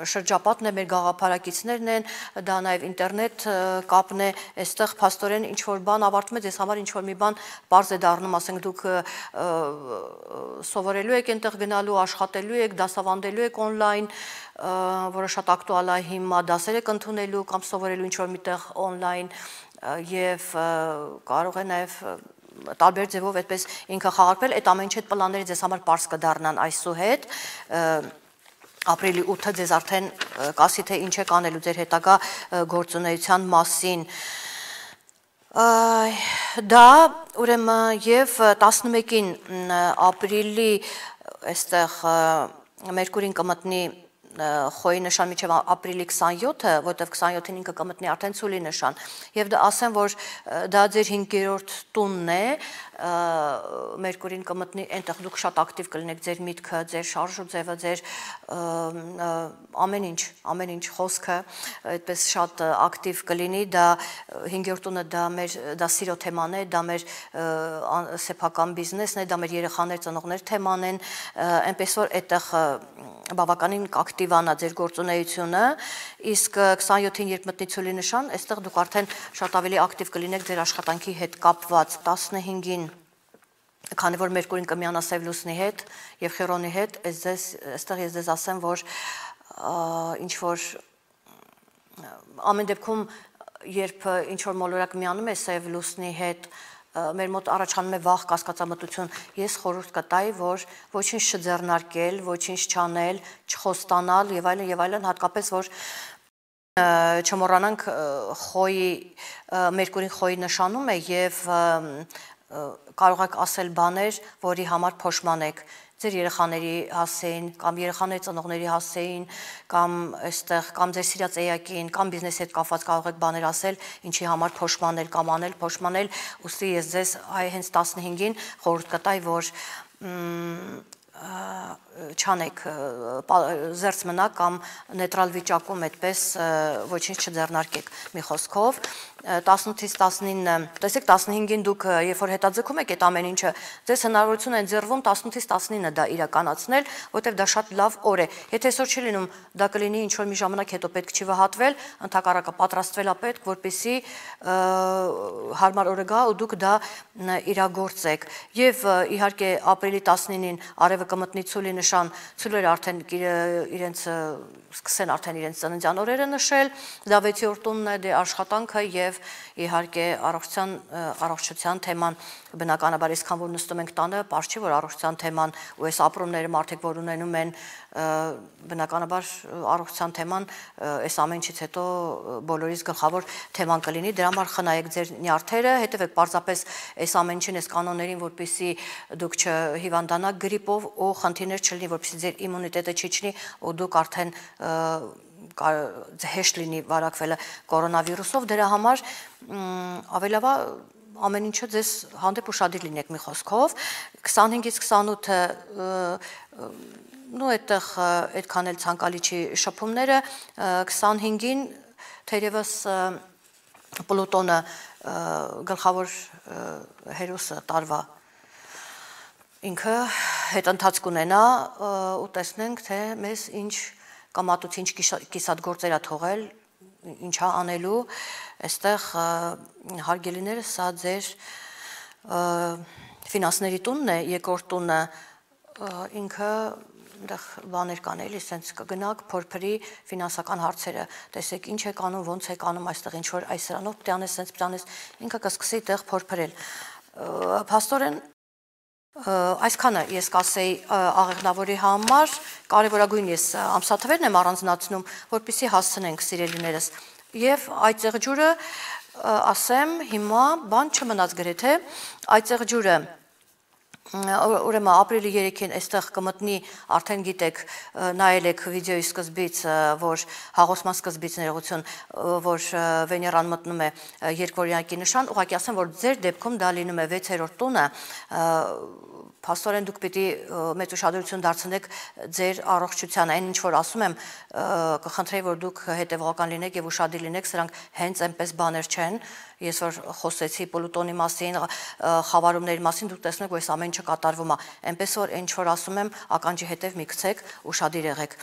շրջապատն է, մեր գաղափարակիցներն են, դա նաև ինտերնետ կապն է, այստեղ փաստորեն ինչ որ բան ավարտում է, ձեզ համար ինչ որ մի բան պարզ է դառնում, ասենք դուք սովորելու եք այնտեղ գնալու, աշխատելու եք, դասավանդելու եք on-line, որը շատ ակտուալ է հիմա, դասեր եք ընդունելու կամ սովորելու ինչ որ միտեղ on-line եւ կարող է նաեւ տարբեր ձևով այդպես ինքը խաղարկվել, այդ ամեն ինչ այդ պլանները ձեզ համար պարզ կդառնան այսուհետ, ապրիլի 8-ը ձեզ արդեն կասի թե ինչ եք անելու ձեր հետագա գործունեության մասին, դա ուրեմն եւ 11-ին ապրիլի այստեղ Մերկուրին կմտնի խոյի նշան միջև ապրիլի 27-ը, որտեվ 27-ին ինքը կմտնի արդեն ցուլի նշան, եւ դա ասեմ, որ դա ձեր 5-րդ տունն է, Մերկուրին կմտնի, այնտեղ դուք շատ ակտիվ կլինեք, ձեր միտքը, ձեր շարժու ձևը, ձեր ամեն ինչ խոսքը, այդպես շատ ակտիվ կլինի, դա 5-րդ տունը դա սիրո թեման է, դա մեր սեփական բիզնեսն է, դա մեր երեխաներ, ծնողներ թեման են, այնպես որ այդտեղ բավականին ակտիվանա ձեր գործունեությունը, իսկ 27-ին երբ մտնի ցուլի նշան, այստեղ դուք արդեն շատ ավելի ակտիվ կլինեք ձեր աշխատանքի հետ կապված, 15-ին, քանի որ Մերկուրին կմիանա Սև լուսնի հետ եւ Խիրոնի հետ, այստեղ ես ձեզ ասեմ, որ ինչ որ ամեն դեպքում երբ ինչ որ մոլորակ միանում է Սև լուսնի հետ, մեր մոտ առաջանում է վախ, կասկածամտություն, ես խորհուրդ կտայի, որ ոչինչ չձեռնարկել, ոչինչ չանել, չխոստանալ եւ այլն, հատկապես որ չմոռանանք խոյի Մերկուրին խոյի նշանում է եւ կարող եք ասել բաներ, որի համար փոշմանեք, ձեր երեխաների հասցեին, կամ երեխաների ծնողների հասցեին, կամ այստեղ, կամ ձեր սիրած էակին, կամ բիզնեսի հետ կապված կարող եք բաներ ասել, ինչի համար փոշմանել կամ անել, փոշմանել, ուստի ես ձեզ հենց 15-ին խորհուրդ կտայի, որ չանեք, զերծ մնաք կամ նեյտրալ վիճակում այդպես ոչինչ չձեռնարկեք մի խոսքով, 18-ից 19, տեսեք 15-ին դուք երբ որ հետաձգում եք այդ ամեն ինչը, ձեզ հնարավորություն են ձեռվում 18-ից 19 դա իրականացնել, որտեղ դա շատ լավ օր է։ Եթե այսօր չի լինում, դա կլինի ինչ որ մի ժամանակ հետո պետք չի վհատվել, ընդհակառակը պատրաստվել է պետք, որպեսզի հարմար օրը գա ու դուք դա իրագործեք։ Եվ իհարկե ապրիլի 19-ին արևը կմտնի ցուլի նշան, ցուլերը արդեն իրենց սկսեն արդեն իրենց ծննդյան օրերը նշել, դա 6-րդ տունն է, դե աշխատանքը եւ իհարկե առողջության թեման բնականաբար այսքան որ նստում ենք տանը, պարզ չի որ առողջության թեման ու այս ապրումները մարդիկ որ ունենում են բնականաբար առողջության թեման այս ամեն ինչից հետո բոլորիս գլխավոր թեման կլինի, դրա համար խնայեք ձեր նյարդերը, հետևեք պարզապես այս ամեն ինչին, այս կանոններին, որպեսզի դուք չհիվանդանաք գրիպով ու խնդիրներ չլինի, որպեսզի ձեր իմունիտետը չիջնի ու դուք արդեն հեշտ լինի վարակվելը կորոնավիրուսով, դրա համար ավելավա ամեն ինչը ձեզ հանդեպ ուշադիր լինեք մի խոսքով, 25-ից 28-ը նու այդտեղ այդքան էլ ցանկալի չի շփումները, 25-ին թերևս Պլուտոնը գլխավոր հերոսը տարվա ինքը հետընթաց կունենա ու տեսնենք, թե մեզ ինչ կամատուց ինչ կիսատ գործեր է թողել, ինչա անելու, այստեղ հարգելիները սա ձեր ֆինանսների տունն է, երկրորդ տունը ինքը այնտեղ բաներ կան էլի, սենց կգնաք, փորփրի ֆինանսական հարցերը, տեսեք ինչ եք անում, ոնց եք անում այստեղ ինչ որ այս սրանով պետք է անես, սենց պետք է անես, ինքը կսկսի այդտեղ փորփրել։ Փաստորեն այսքանը ես կասեի աղեղնավորի համար, կարևորագույն ես ամսաթվերն եմ առանձնացնում, որպեսզի հասցնենք սիրելիներս։ Եվ այդ ծեղջուրը ասեմ, հիմա բան չմնաց գրեթե, այդ ծեղջուրը ուրեմն ապրիլի 3-ին այստեղ կմտնի, արդեն գիտեք, նայել եք վիդեոյի սկզբից, որ հաղորդման սկզբից ներողություն, որ Վեներան մտնում է երկվորյակի նշան, ուղղակի ասեմ, որ ձեր դեպքում դա լինում է 6-րդ տունը, փաստորեն դուք պիտի մեծ ուշադրություն դարձնեք ձեր առողջությանը, այն ինչ որ ասում եմ, կխնդրեի, որ դուք հետևողական լինեք եւ ուշադիր լինեք, սրանք հենց այնպես բաներ չեն, ես որ խոսեցի Պլուտոնի մասին, խավարումների մասին, դուք տեսնեք, որ այս ամեն ինչը կատարվում է, այնպես որ ինչ որ ասում եմ, ականջի հետև մի գցեք, ուշադիր եղեք։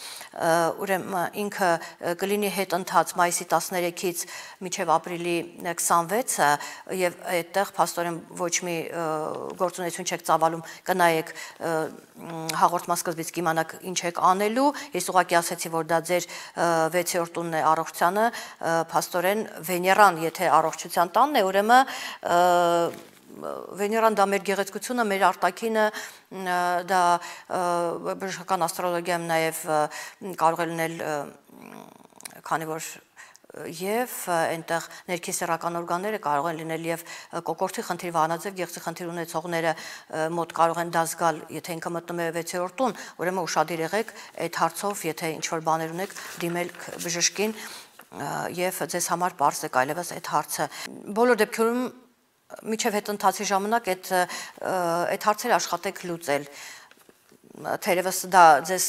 Ուրեմն ինքը կլինի հետընթաց մայիսի 13-ից մինչև ապրիլի 26-ը եւ այդտեղ փաստորեն ոչ մի գործունեություն չեք ծավալում, կնայեք հաղորդման սկզբից կիմանաք ինչ եք անելու, ես ուղղակի ասեցի, որ դա ձեր 6-րդ տունն է առողջությանը, փաստորեն Վեներան, եթե առողջության տանն է, ուրեմն Վեներան դա մեր գեղեցկությունը, մեր արտաքինը, դա բժշկական աստրոլոգիայում նաև կարող է լինել, քանի որ եւ այնտեղ ներքիսեռական օրգանները կարող են լինել եւ կոկորտի խնդիր, վահանաձև գեղձի խնդիր ունեցողները մոտ կարող են դա զգալ, եթե ինքը մտնում է 6-րդ տուն, ուրեմն ուշադիր եղեք այդ հարցով, եթե ինչ որ բաներ ունեք, դիմել բժշկին եւ ձեզ համար պարզ է այլևս այդ հարցը։ Բոլոր դեպքերում միջև հետընթացի ժամանակ այդ հարցերը աշխատեք լուծել։ Թերևս դա ձեզ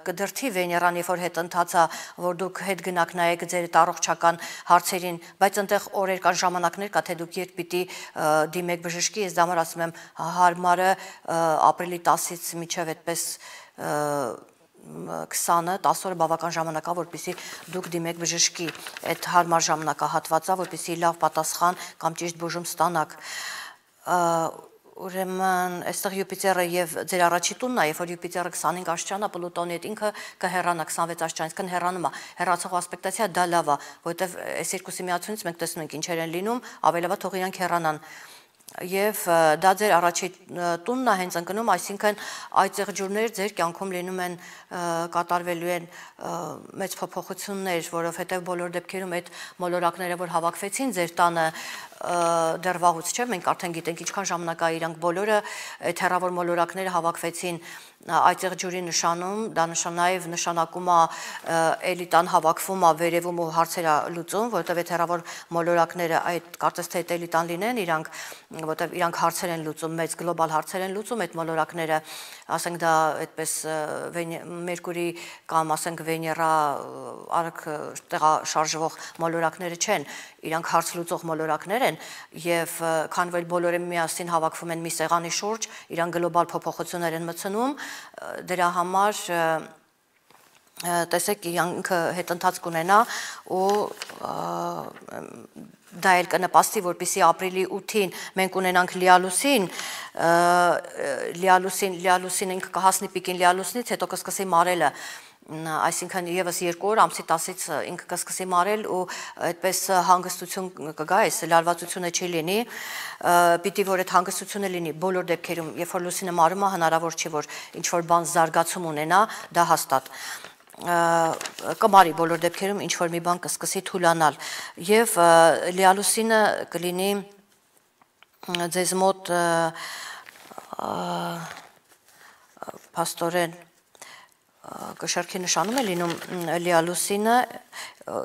կդրթի Վեներան, երբ որ հետընթացա, որ դուք հետ գնաք նայեք ձեր առողջական հարցերին, բայց այնտեղ օրեր կան, ժամանակներ կա, թե դուք երբ պիտի դիմեք բժշկի, ես դա համար ասում եմ հարմարը ապրիլի 10-ից մինչև այդպես 20-ը 10 օրը բավական ժամանակ է, որպեսզի դուք դիմեք բժշկի, այդ հարմար ժամանակահատվածը, որպեսզի լավ պատասխան կամ ճիշտ բուժում ստանաք։ Ուրեմն այստեղ Յուպիտերը եւ ձեր առաջի տունն է, երբ որ Յուպիտերը 25 աստիճան է, Պլուտոնի հետ ինքը կհեռանա 26 աստիճանից, կհեռանում է, հեռացող ասպեկտացիա դա լավ է, որովհետեւ այս երկուսի միացությունից մենք տեսնում ենք ինչեր են լինում, ավելավա թող իրանք հեռանան։ Եվ դա ձեր առաջի տունն է հենց ընկնում, այսինքն այդ ծեղջուրներ ձեր կյանքում լինում են կատարվելու են մեծ փոփոխություններ, որովհետև բոլոր դեպքերում այդ մոլորակները, որ հավաքվեցին ձեր տանը, դեռ վաղուց չէ, մենք արդեն գիտենք ինչքան ժամանակ է իրանք բոլորը այդ հեռավոր մոլորակները հավաքվեցին այդտեղ ջուրի նշանում, դա նաև նշանակում է էլիտան հավաքվում է վերևում ու հարցերը լուծում, որովհետև այդ հեռավոր մոլորակները այդ կարծես թե այդ էլիտան լինեն, որովհետև իրանք հարցեր են լուծում, մեծ գլոբալ հարցեր են լուծում այդ մոլորակները, ասենք դա այդպես Մերկուրի կամ ասենք Վեներա արագ տեղաշարժվող մոլորակները չեն, իրանք հարց լուծող մոլորակներ են եւ քան որ բոլորը միասին հավաքվում են մի սեղանի շուրջ, իրանք գլոբալ փոփոխություններ են մտցնում, դրա համար տեսեք ինքը հետընթաց կունենա ու դա էլ կնպաստի, որպեսզի ապրիլի 8-ին մենք ունենանք լիալուսին ինքը կհասնի պիկին լիալուսնից, հետո կսկսի մարելը, այսինքն եւս 2 օր ամսի 10-ից ինքը կսկսի մարել ու այդպես հանգստություն կգա, այս լարվածությունը չի լինի, պիտի որ այդ հանգստությունը լինի բոլոր դեպքերում, երբ որ լուսինը մարում է, հնարավոր չի որ ինչ որ բան զարգացում ունենա, դա հաստատ կմարի բոլոր դեպքերում ինչ որ մի բան կսկսի թուլանալ եւ լիալուսինը կլինի ձեզ մոտ փաստորեն կշարքի նշանում է լինում լիալուսինը,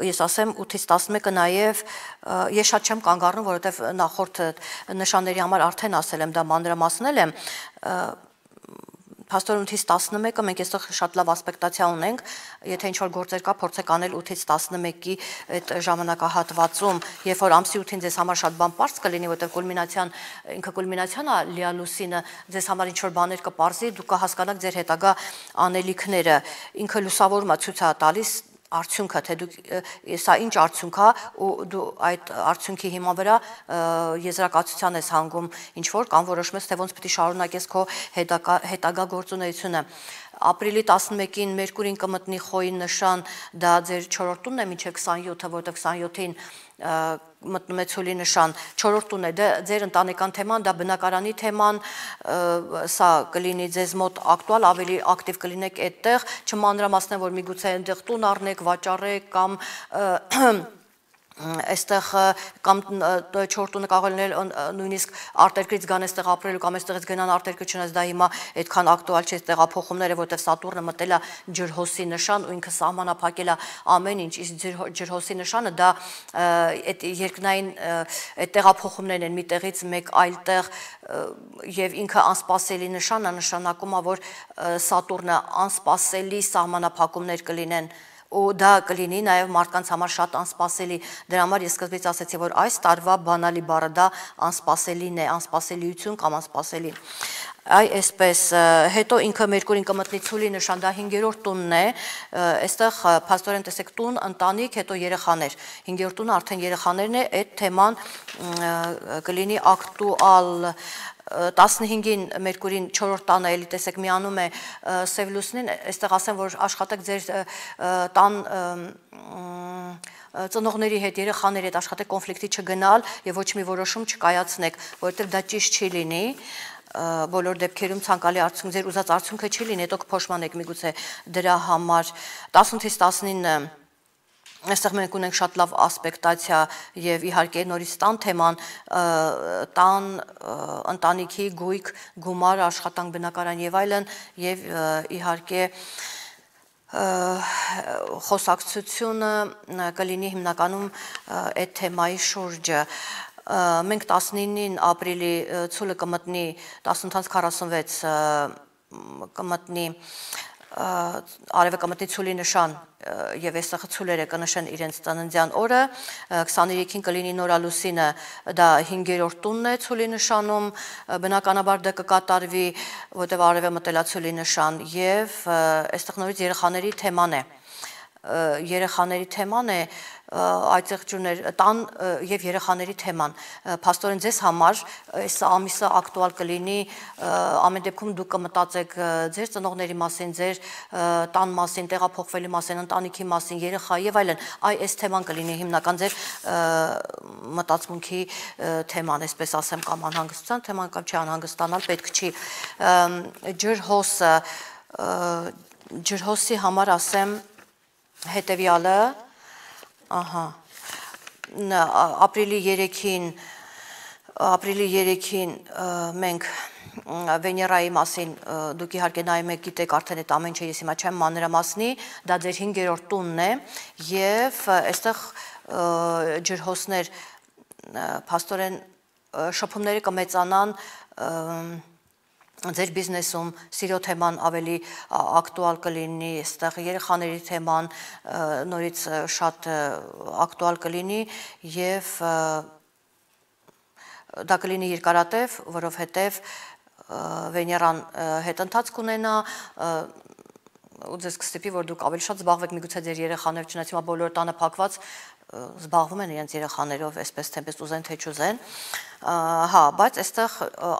ես ասեմ 8-ից 11-ը նաև ես շատ չեմ կանգ առնում, որովհետև նախորդ նշանների համար արդեն ասել եմ, դա մանրամասնել եմ, փաստորեն 8-ից 11-ը մենք այստեղ շատ լավ ասպեկտացիա ունենք, եթե ինչ-որ գործեր կա, փորձեք անել 8-ից 11-ի այդ ժամանակահատվածում, երբ որ ամսի 8-ին ձեզ համար շատ բան պարզ կլինի, որովհետև ինքը կուլմինացիան է լիալուսինը, ձեզ համար ինչ-որ բաներ կպարզի, դուք կհասկանաք ձեր հետագա անելիքները, ինքը լուսավորում է ցույց է տալիս արդյունքը, թե դուք սա ինչ արդյունք է ու դու այդ արդյունքի հիման վրա եզրակացության ես հանգում ինչ որ կամ որոշում ես թե ոնց պիտի շարունակես քո հետագա գործունեությունը ապրիլի 11-ին Մերկուրին կմտնի խոյի նշան, դա ձեր 4-րդ տունն է մինչև 27-ը, որտեղ 27-ին մտնում է ցուլի նշան, 4-րդ տունն է, ձեր ընտանեկան թեման, դա բնակարանի թեման, սա կլինի ձեզ մոտ ակտուալ, ավելի ակտիվ կլինեք այդտեղ, չմանրամասնեմ, որ միգուցե այնտեղ տուն առնեք, վաճառեք կամ այստեղ կամ 4 տունը կարող է լինել նույնիսկ արտերկրից գան այստեղ ապրելու կամ այստեղից գնան արտերկրից չնայած դա հիմա այդքան ակտուալ չէ տեղափոխումները, որտեղ Սատուրնը մտել է ջրհոսի նշան ու ինքը սահմանափակել է ամեն ինչ, իսկ ջրհոսի նշանը դա այդ երկնային այդ տեղափոխումներն են մի տեղից մեկ այլ տեղ եւ ինքը անսպասելի նշան է, նշանակում է, որ Սատուրնը անսպասելի սահմանափակումներ կլինեն ու դա կլինի նաև մարդկանց համար շատ անսպասելի, դրա համար ես սկզբից ասեցի, որ այս տարվա բանալի բառը դա անսպասելին է, անսպասելիություն կամ անսպասելի, այսպես, հետո ինքը Մերկուրին կմտնի ցուլի նշան, դա 5-րդ տունն է, այստեղ փաստորեն տեսեք տուն, ընտանիք, հետո երեխաներ, 5-րդ տունը արդեն երեխաներն է, այդ թեման կլինի ակտուալ 15-ին Մերկուրին 4-րդ տանը էլի տեսեք միանում է սև լուսնին, այստեղ ասեմ, որ աշխատեք ձեր տան ծնողների հետ, երեխաների հետ աշխատեք կոնֆլիկտի չգնալ եւ ոչ մի որոշում չկայացնեք, որովհետեւ դա ճիշտ չի լինի բոլոր դեպքերում ցանկալի արդյունք ձեր ուզած արդյունքը չի լինի, հետո կփոշմանեք միգուցե դրա համար 18-ից 19-ը այստեղ մենք ունենք շատ լավ ասպեկտացիա եւ իհարկե նորից տան թեման, տան, ընտանիքի, գույք, գումար, աշխատանք, բնակարան եւ այլն եւ իհարկե խոսակցությունը կլինի հիմնականում այդ թեմայի շուրջը մենք 19-ին ապրիլի ցուլը կմտնի 18:46 կմտնի արևը կմտնի ցուլի նշան եւ այստեղ ցուլերը կնշեն իրենց ծննդյան օրը 23-ին կլինի նորալուսինը դա 5-րդ տունն է ցուլի նշանում բնականաբար դա կկատարվի որտեղ արևը մտել է ցուլի նշան եւ այստեղ նորից երեխաների թեման է այդտեղ ջուներ տան եւ երեխաների թեման փաստորեն ձեզ համար այս ամիսը ակտուալ կլինի ամեն դեպքում դուք կմտածեք ձեր ծնողների մասին, ձեր տան մասին, տեղափոխվելու մասին, ընտանիքի մասին, երեխայի եւ այլն այս թեման կլինի հիմնական ձեր մտածմունքի թեման, այսպես ասեմ, կամ անհանգստության թեման կամ չանհանգստանալ պետք չի ջրհոսի համար ասեմ հետեւյալը Ահա ապրիլի 3-ին ապրիլի 3-ին մենք Վեներայի մասին դուք իհարկե նայում եք, գիտեք արդեն այդ ամեն ինչը ես հիմա չեմ մանրամասնի, դա ձեր 5-րդ տունն է եւ այստեղ ջրհոսներ փաստորեն շփումները կմեծանան ձեր բիզնեսում, սիրո թեման ավելի ակտուալ կլինի, այստեղ երեխաների թեման նորից շատ ակտուալ կլինի եւ դա կլինի երկարատև, որովհետեւ Վեներան հետընթաց կունենա ու ձեզ կստիպի, որ դուք ավելի շատ զբաղվեք միգուցե ձեր երեխաներով, չնայած հիմա բոլոր տանը փակված զբաղվում են իրենց երեխաներով, այսպես թեպետ ուզեն թե չուզեն, հա, բայց այստեղ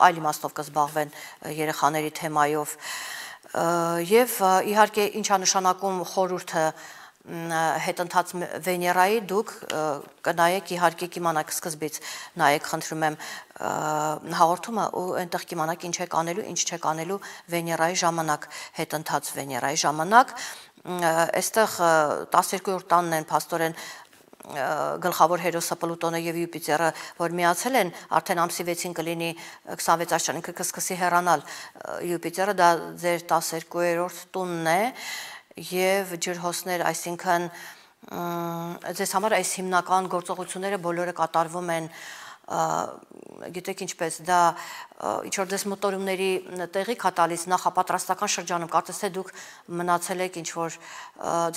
այլ իմաստով կզբաղվեն երեխաների թեմայով եւ իհարկե ինչա նշանակում խորհուրդը հետընթաց Վեներայի դուք կնայեք իհարկե կիմանաք սկզբից նայեք խնդրում եմ հաղորդումը ու այնտեղ կիմանաք ինչ եք անելու, ինչ չեք անելու Վեներայի ժամանակ, հետընթաց Վեներայի ժամանակ, այստեղ 12-րդ տանն են փաստորեն գլխավոր հերոսը Պլուտոնը եւ Յուպիտերը, որ միացել են, արդեն ամսի 6-ին կլինի 26 աշճան, ինքը կսկսի հեռանալ Յուպիտերը, դա ձեր 12-րդ տունն է եւ ջրհոսներ, այսինքն ձեզ համար այս հիմնական գործողությունները բոլորը կատարվում են գիտեք ինչպես դա ինչ որ դες մոտորումների տեղի կա տալիս նախապատրաստական շրջանում կարծես թե դուք մնացել եք ինչ որ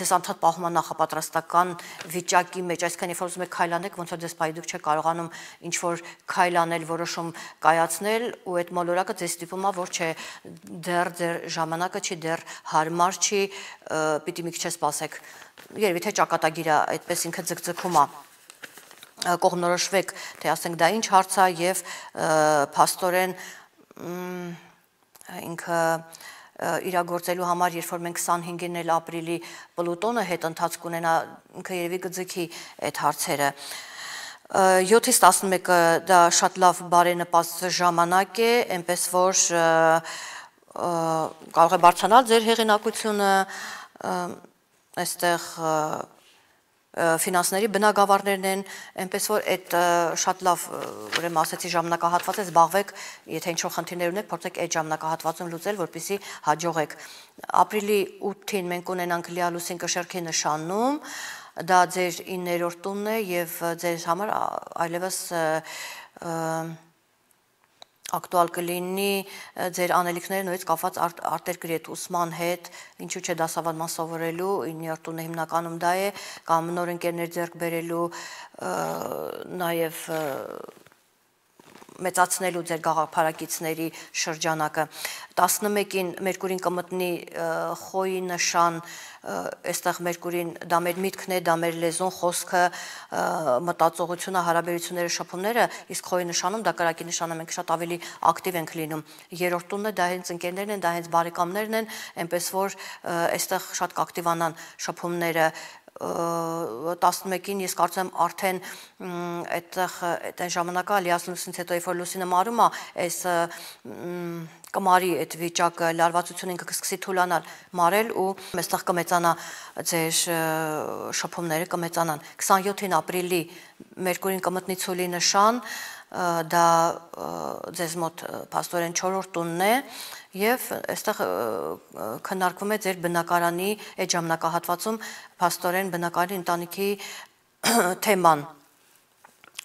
ձեզ անդադ պահում է նախապատրաստական վիճակի մեջ այսքան երբ որ ուզում եք քայլանեք ոնց որ դες պայ դուք չեք կարողանում ինչ որ քայլանել որոշում կայացնել ու այդ մոլորակը ձեզ ստիպում է որ չէ դեռ ձեր ժամանակը չի դեռ հարմար չի պիտի մի քիչ սպասեք երևի թե ճակատագիրը այդպես ինքը ձգձգում է կողմնորոշվեք, թե ասենք դա ինչ հարց է եւ փաստորեն ինքը իրագործելու համար, երբ որ մենք 25-ին էլ ապրիլի Պլուտոնը հետընթաց կունենա, ինքը երևի կձգի այդ հարցերը 7-ից 11-ը դա շատ լավ բարենպաստ ժամանակ է, այնպես որ կարող է բարձրանալ ձեր հեղինակությունը այստեղ ֆինանսների բնագավառներն են, այնպես որ այդ շատ լավ ուրեմն ասեցի ժամանակահատված է զբաղվեք, եթե ինչ-որ խնդիրներ ունեք, փորձեք այդ ժամանակահատվածում լուծել, որպեսզի հաջողեք։ Ապրիլի 8-ին մենք ունենանք լիալուսին կշեռքի նշանում, դա ձեր 9-րդ տունն է եւ ձեր համար այլևս ակտուալ կլինի ձեր անելիքները նույնիսկ կապված արտերկրի հետ ուսման հետ, ինչու՞ չէ դասավանդման սովորելու, 9-րդ տունը հիմնականում դա է, կամ նոր ընկերներ ձեռք բերելու, նաև մեծացնելու ձեր գաղափարակիցների շրջանակը 11-ին Մերկուրին կմտնի խոյի նշան, այստեղ Մերկուրին դա մեր միտքն է, դա մեր լեզուն, խոսքը, մտածողությունը, հարաբերությունները, շփումները, իսկ խոյի նշանում դա կրակի նշանը մենք շատ ավելի ակտիվ ենք լինում։ Երրորդ տունը դա հենց ընկերներն են, դա հենց բարեկամներն են, այնպես որ այստեղ շատ կակտիվանան շփումները 11-ին ես կարծում եմ արդեն այդտեղ այն ժամանակը լիասլուսից հետո երբ որ լուսինը մարում է, այս կմարի այդ վիճակը լարվածությունը ինքը կսկսի թուլանալ, մարել ու այստեղ կմեծանա ձեր շփումները կմեծանան։ 27-ին ապրիլի Մերկուրին կմտնի ցուլի նշան, դա ձեզ մոտ փաստորեն 4-րդ տունն է եւ այստեղ քննարկվում է ձեր բնակարանի այդ ժամանակահատվածում փաստորեն բնակարանի ընտանիքի թեման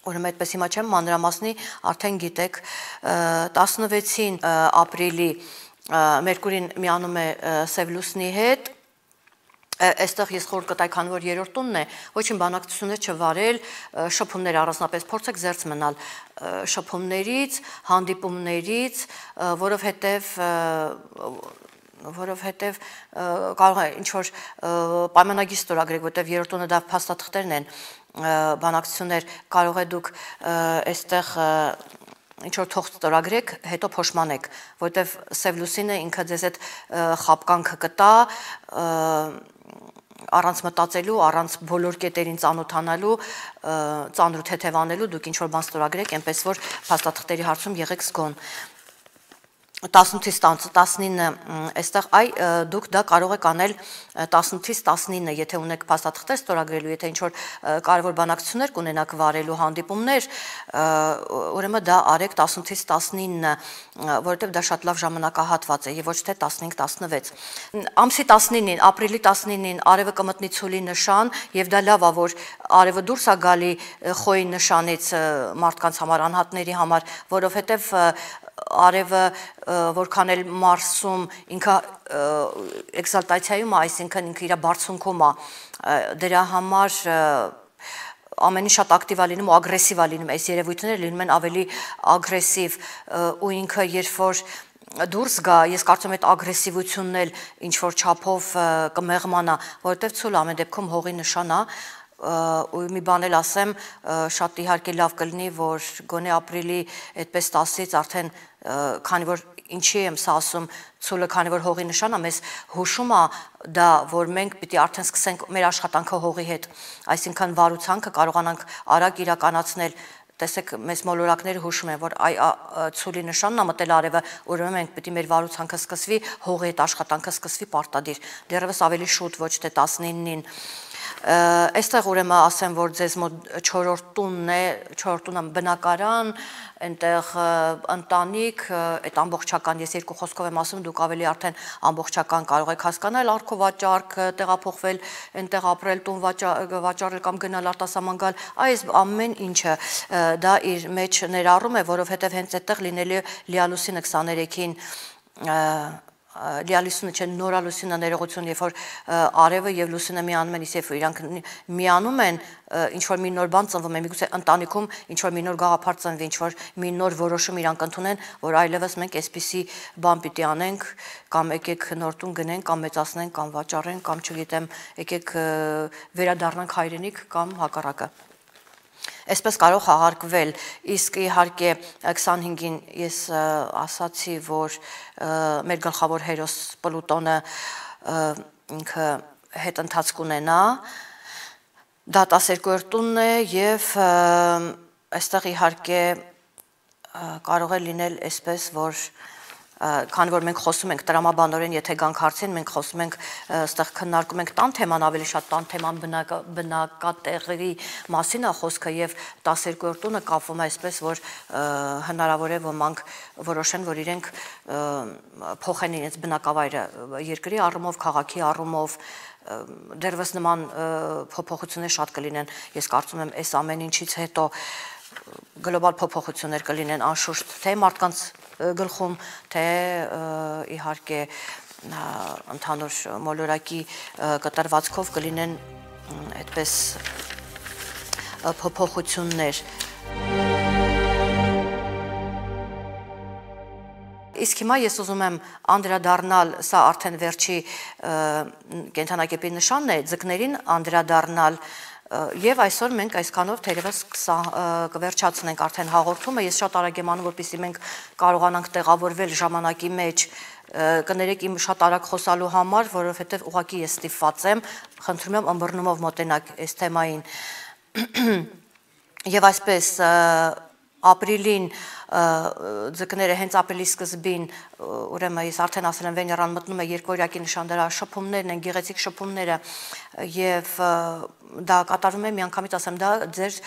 Ուրեմն այդպես հիմա չեմ մանրամասնի, արդեն գիտեք 16-ին ապրիլի Մերկուրին միանում է Սև լուսնի հետ Այստեղ ես խորհուրդ կտայի, քանի որ երրորդ տունն է, ոչինչ բանակցություններ չվարել, շփումներ առանձնապես փորձեք զերծ մնալ շփումներից, հանդիպումներից, որովհետև կարող է ինչ որ պայմանագիր ստորագրեք, որտեղ երրորդ տունը դա փաստաթղթերն են, բանակցություններ կարող է դուք այստեղ ինչ որ թող ստորագրեք, հետո փոշմանեք, որտեղ Սև լուսինը ինքը ձեզ այդ խապկանքը կտա առանց մտածելու, առանց բոլոր կետերին ծանոթանալու, ծանր ու թեթևանելու, դուք ինչ որ բան ստորագրեք, այնպես որ փաստաթղթերի հարցում եղեք զգոն։ 18-ից 19, այստեղ դուք դա կարող եք անել 18-ից 19, եթե ունեք փաստաթղթեր ստորագրելու, եթե ինչ-որ կարևոր բանակցություններ կունենաք վարելու հանդիպումներ, ուրեմն դա արեք 18-ից 19, որովհետև դա շատ լավ ժամանակահատված է եւ ոչ թե 15-16։ Ամսի 19-ին, ապրիլի 19-ին արևը կմտնի ցուլի նշան եւ դա լավ է, որ արևը դուրս է գալի խոյի նշանից մարդկանց համար, անհատների համար, որովհետև արևը որքան էլ Մարսում ինքը էքսալտացիայում է, այսինքն ինքը իր բարձունքում է, դրա համար ամենին շատ ակտիվ է լինում ու ագրեսիվ է լինում, այս երևույթները լինում են ավելի ագրեսիվ ու ինքը երբ որ դուրս գա, ես կարծում եմ այդ ագրեսիվությունն էլ ինչ որ չափով կմեղմանա, որովհետև ցուլը ամեն դեպքում հողի նշան է, ու մի բան էլ ասեմ, շատ իհարկե լավ կլինի, որ գոնե ապրիլի այդպես 10-ից արդեն, քանի որ ինչի եմ սա ասում, ցուլը քանի որ հողի նշան է, մեզ հուշում է դա, որ մենք պիտի արդեն սկսենք մեր աշխատանքը հողի հետ, այսինքն վարուցանքը կարողանանք արագ իրականացնել, տեսեք, մեզ մոլորակները հուշում են, որ ցուլի նշանն է մտել արևը, ուրեմն մենք պիտի մեր վարուցանքը սկսվի, հողի հետ աշխատանքը սկսվի պարտադիր, դեռևս ավելի շուտ, ոչ թե 19-ին։ Այստեղ ուրեմն ասեմ, որ ձեզ մոտ 4-րդ տունն է, 4-րդ տունը բնակարան, այնտեղ ընտանիք, այդ ամբողջական, ես երկու խոսքով եմ ասում, դուք ավելի արդեն ամբողջական կարող եք հասկանալ, առքովաճառք, տեղափոխվել, այնտեղ ապրել, տուն վաճառել կամ գնալ արտասահման գալ, այս ամեն ինչը դա իր մեջ ներառում է, որովհետև հենց այդտեղ լինելու է լիալուսինը 23-ին լիալուսինը չէ, նորալուսինը ներողություն, երբ որ արևը եւ լուսինը միանում են, իսկ իրանք միանում են, ինչ որ մի նոր բան ծնվում է, միգուցե ընտանիքում ինչ որ մի նոր գաղափար ծնվի, ինչ որ մի նոր որոշում իրանք ընդունեն, որ այլևս մենք այսպիսի բան պիտի անենք, կամ եկեք նոր տուն գնենք, կամ մեծացնենք, կամ վաճառենք, կամ չգիտեմ, եկեք վերադառնանք հայրենիք կամ հակառակը։ Այսպես կարող հաղարկվել, իսկ իհարկե 25-ին ես ասացի, որ մեր գլխավոր հերոս Պլուտոնը ինքը հետ ընթացք ունենա, դա 12-րդ տունն է եւ այստեղ իհարկե կարող է լինել այսպես, որ քանի որ մենք խոսում ենք տրամաբանորեն, եթե գանք հարցին, մենք խոսում ենք, այստեղ քննարկում ենք տան թեման, ավելի շատ տան թեման բնակատեղերի մասին է խոսքը եւ 12-րդ տունը կապվում է այսպես, որ հնարավոր է ոմանք որոշեն, որ իրենք փոխեն իրենց բնակավայրը երկրի առումով, քաղաքի առումով, դեռևս նման փոփոխություններ շատ կլինեն, ես կարծում եմ, այս ամեն ինչից հետո գլոբալ փոփոխություններ կլինեն անշուշտ, թե մարդկանց գլխում, թե իհարկե ընդհանուր մոլորակի կտրվածքով կլինեն այդպես փոփոխություններ։ Իսկ հիմա ես ուզում եմ անդրադառնալ, սա արդեն վերջի կենդանակեպի նշանն է, ձկներին անդրադառնալ Եվ այսօր մենք այսքանով թերևս կվերջացնենք արդեն հաղորդումը, ես շատ արագ եմ անում, որպեսզի մենք կարողանանք տեղավորվել ժամանակի մեջ, կներեք իմ շատ արագ խոսալու համար, որովհետև ուղղակի ես ստիպված եմ, խնդրում եմ ըմբռնումով մոտենաք այս թեմային։ Եվ այսպես ապրիլին ձկները հենց ապրիլի սկզբին, ուրեմն ես արդեն ասել եմ, Վեներան մտնում է երկօրյակի նշան, դրա շփումներն են, գեղեցիկ շփումները եւ դա կատարվում է միանգամից ասեմ, դա ձեր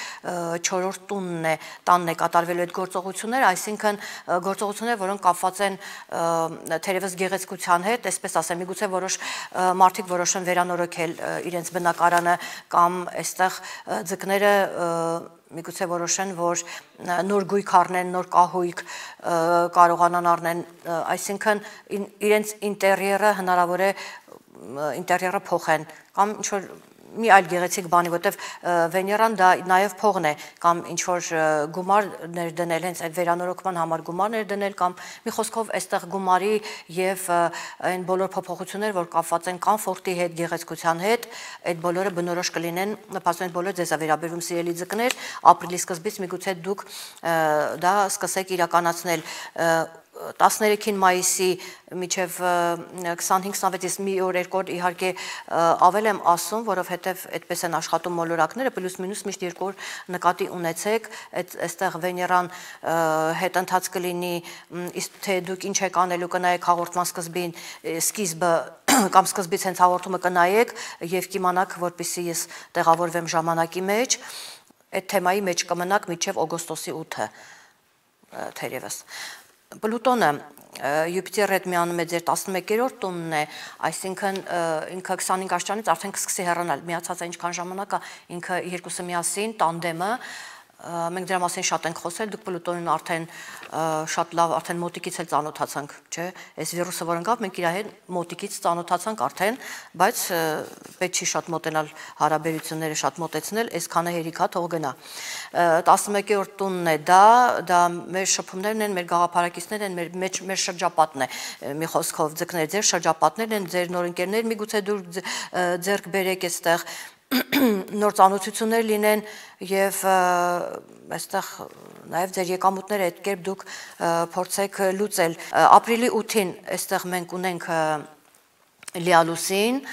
4-րդ տունն է, տանն է կատարվելու այդ գործողությունները, այսինքն գործողությունները, որոնք կապված են թերևս գեղեցկության հետ, այսպես ասեմ, միգուցե որոշ մարդիկ որոշեն վերանորոգել իրենց բնակարանը կամ այստեղ ձկները միգուցե որոշեն, որ նոր գույք առնեն, նոր կահույք կարողանան առնեն, այսինքն իրենց ինտերիերը հնարավոր է ինտերիերը փոխեն կամ ինչ-որ մի այլ գեղեցիկ բանի, որտեվ Վեներան դա նաև փողն է կամ ինչ-որ գումար ներդնել, հենց այդ վերանորոգման համար գումար ներդնել կամ մի խոսքով այստեղ գումարի եւ այն բոլոր փոփոխություններ, որ կապված են կոմֆորտի հետ, գեղեցկության հետ, այդ բոլորը բնորոշ կլինեն, նպաստում են բոլոր ձեզ վերաբերվում սիրելի ձկներ, ապրիլի սկզբից միգուցե դուք դա սկսեք իրականացնել 13 մայիսի միջև 25-26-ից մի օր երկու օր իհարկե ավել եմ ասում, որովհետև այդպես են աշխատում մոլորակները, պլյուս մինուս միշտ երկու օր նկատի ունեցեք, այստեղ Վեներան հետընթաց կլինի, իսկ թե դուք ինչ եք անելու կնայեք հաղորդման սկիզբը կամ սկզբից հենց հաղորդումը կնայեք եւ կիմանաք, որպեսզի ես տեղավորվեմ ժամանակի մեջ, այդ թեմայի մեջ կմնաք մինչև օգոստոսի 8-ը թերևս։ Պլուտոնը Յուպիտերի հետ միանում է ձեր 11-րդ տունն է, այսինքն ինքը 25 աշճանից արդեն կսկսի հեռանալ, միացած է ինչքան ժամանակ է, ինքը երկուսը միասին, տանդեմը, մենք դրա մասին շատ ենք խոսել, դուք Պլուտոնին արդեն շատ լավ, արդեն մոտիկից էլ ծանոթացանք, չէ, այս վիրուսը որ ընկավ, մենք իր հետ մոտիկից ծանոթացանք արդեն, բայց պետք չի շատ մոտենալ հարաբերությունները շատ մոտեցնել, այսքանը հերիք է թող գնա։ 11-րդ տունն է դա մեր շփումներն են, մեր գաղափարակիցներն են, մեր շրջապատն է, մի խոսքով ձկներ, ձեր շրջապատներն են, ձեր նոր ընկերներ միգուցե դուք ձեռք բերեք այստեղ նոր ծանոթություններ լինեն եւ այստեղ նաեւ ձեր եկամուտները այդ կերպ դուք փորձեք լուծել։ Ապրիլի 8-ին այստեղ մենք ունենք լիալուսին,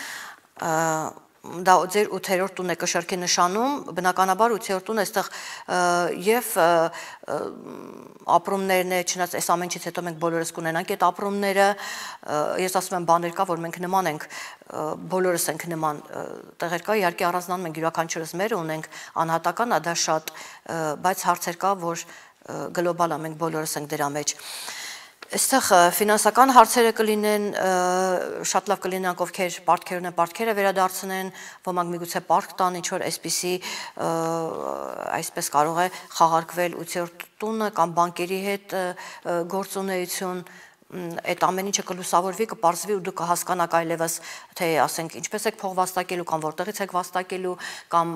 դա ձեր 8-րդ տունն է կշեռքի նշանում, բնականաբար 8-րդ տունը այստեղ եւ ապրումներն է, չնայած այս ամեն ինչից հետո մենք բոլորս կունենանք այդ ապրումները, ես ասում եմ բաներ կա, որ մենք նման ենք, բոլորս ենք նման տեղեր կա, իհարկե առանձնանում ենք յուրաքանչյուրս մեր ունենք անհատական, դա շատ, բայց հարցեր կա, որ գլոբալ է, մենք բոլորս ենք դրա մեջ։ Այստեղ ֆինանսական հարցերը կլինեն, շատ լավ կլինեն ովքեր պարտքերը վերադարձնեն, ոմանք միգուցե պարտք տան, ինչ որ այսպիսի այսպես կարող է խաղարկվել 8-րդ տունը կամ բանկերի հետ գործունեություն, այդ ամեն ինչը կլուսավորվի, կպարզվի ու դուք կհասկանաք այլևս, թե ասենք ինչպես եք փող վաստակելու կամ որտեղից եք վաստակելու կամ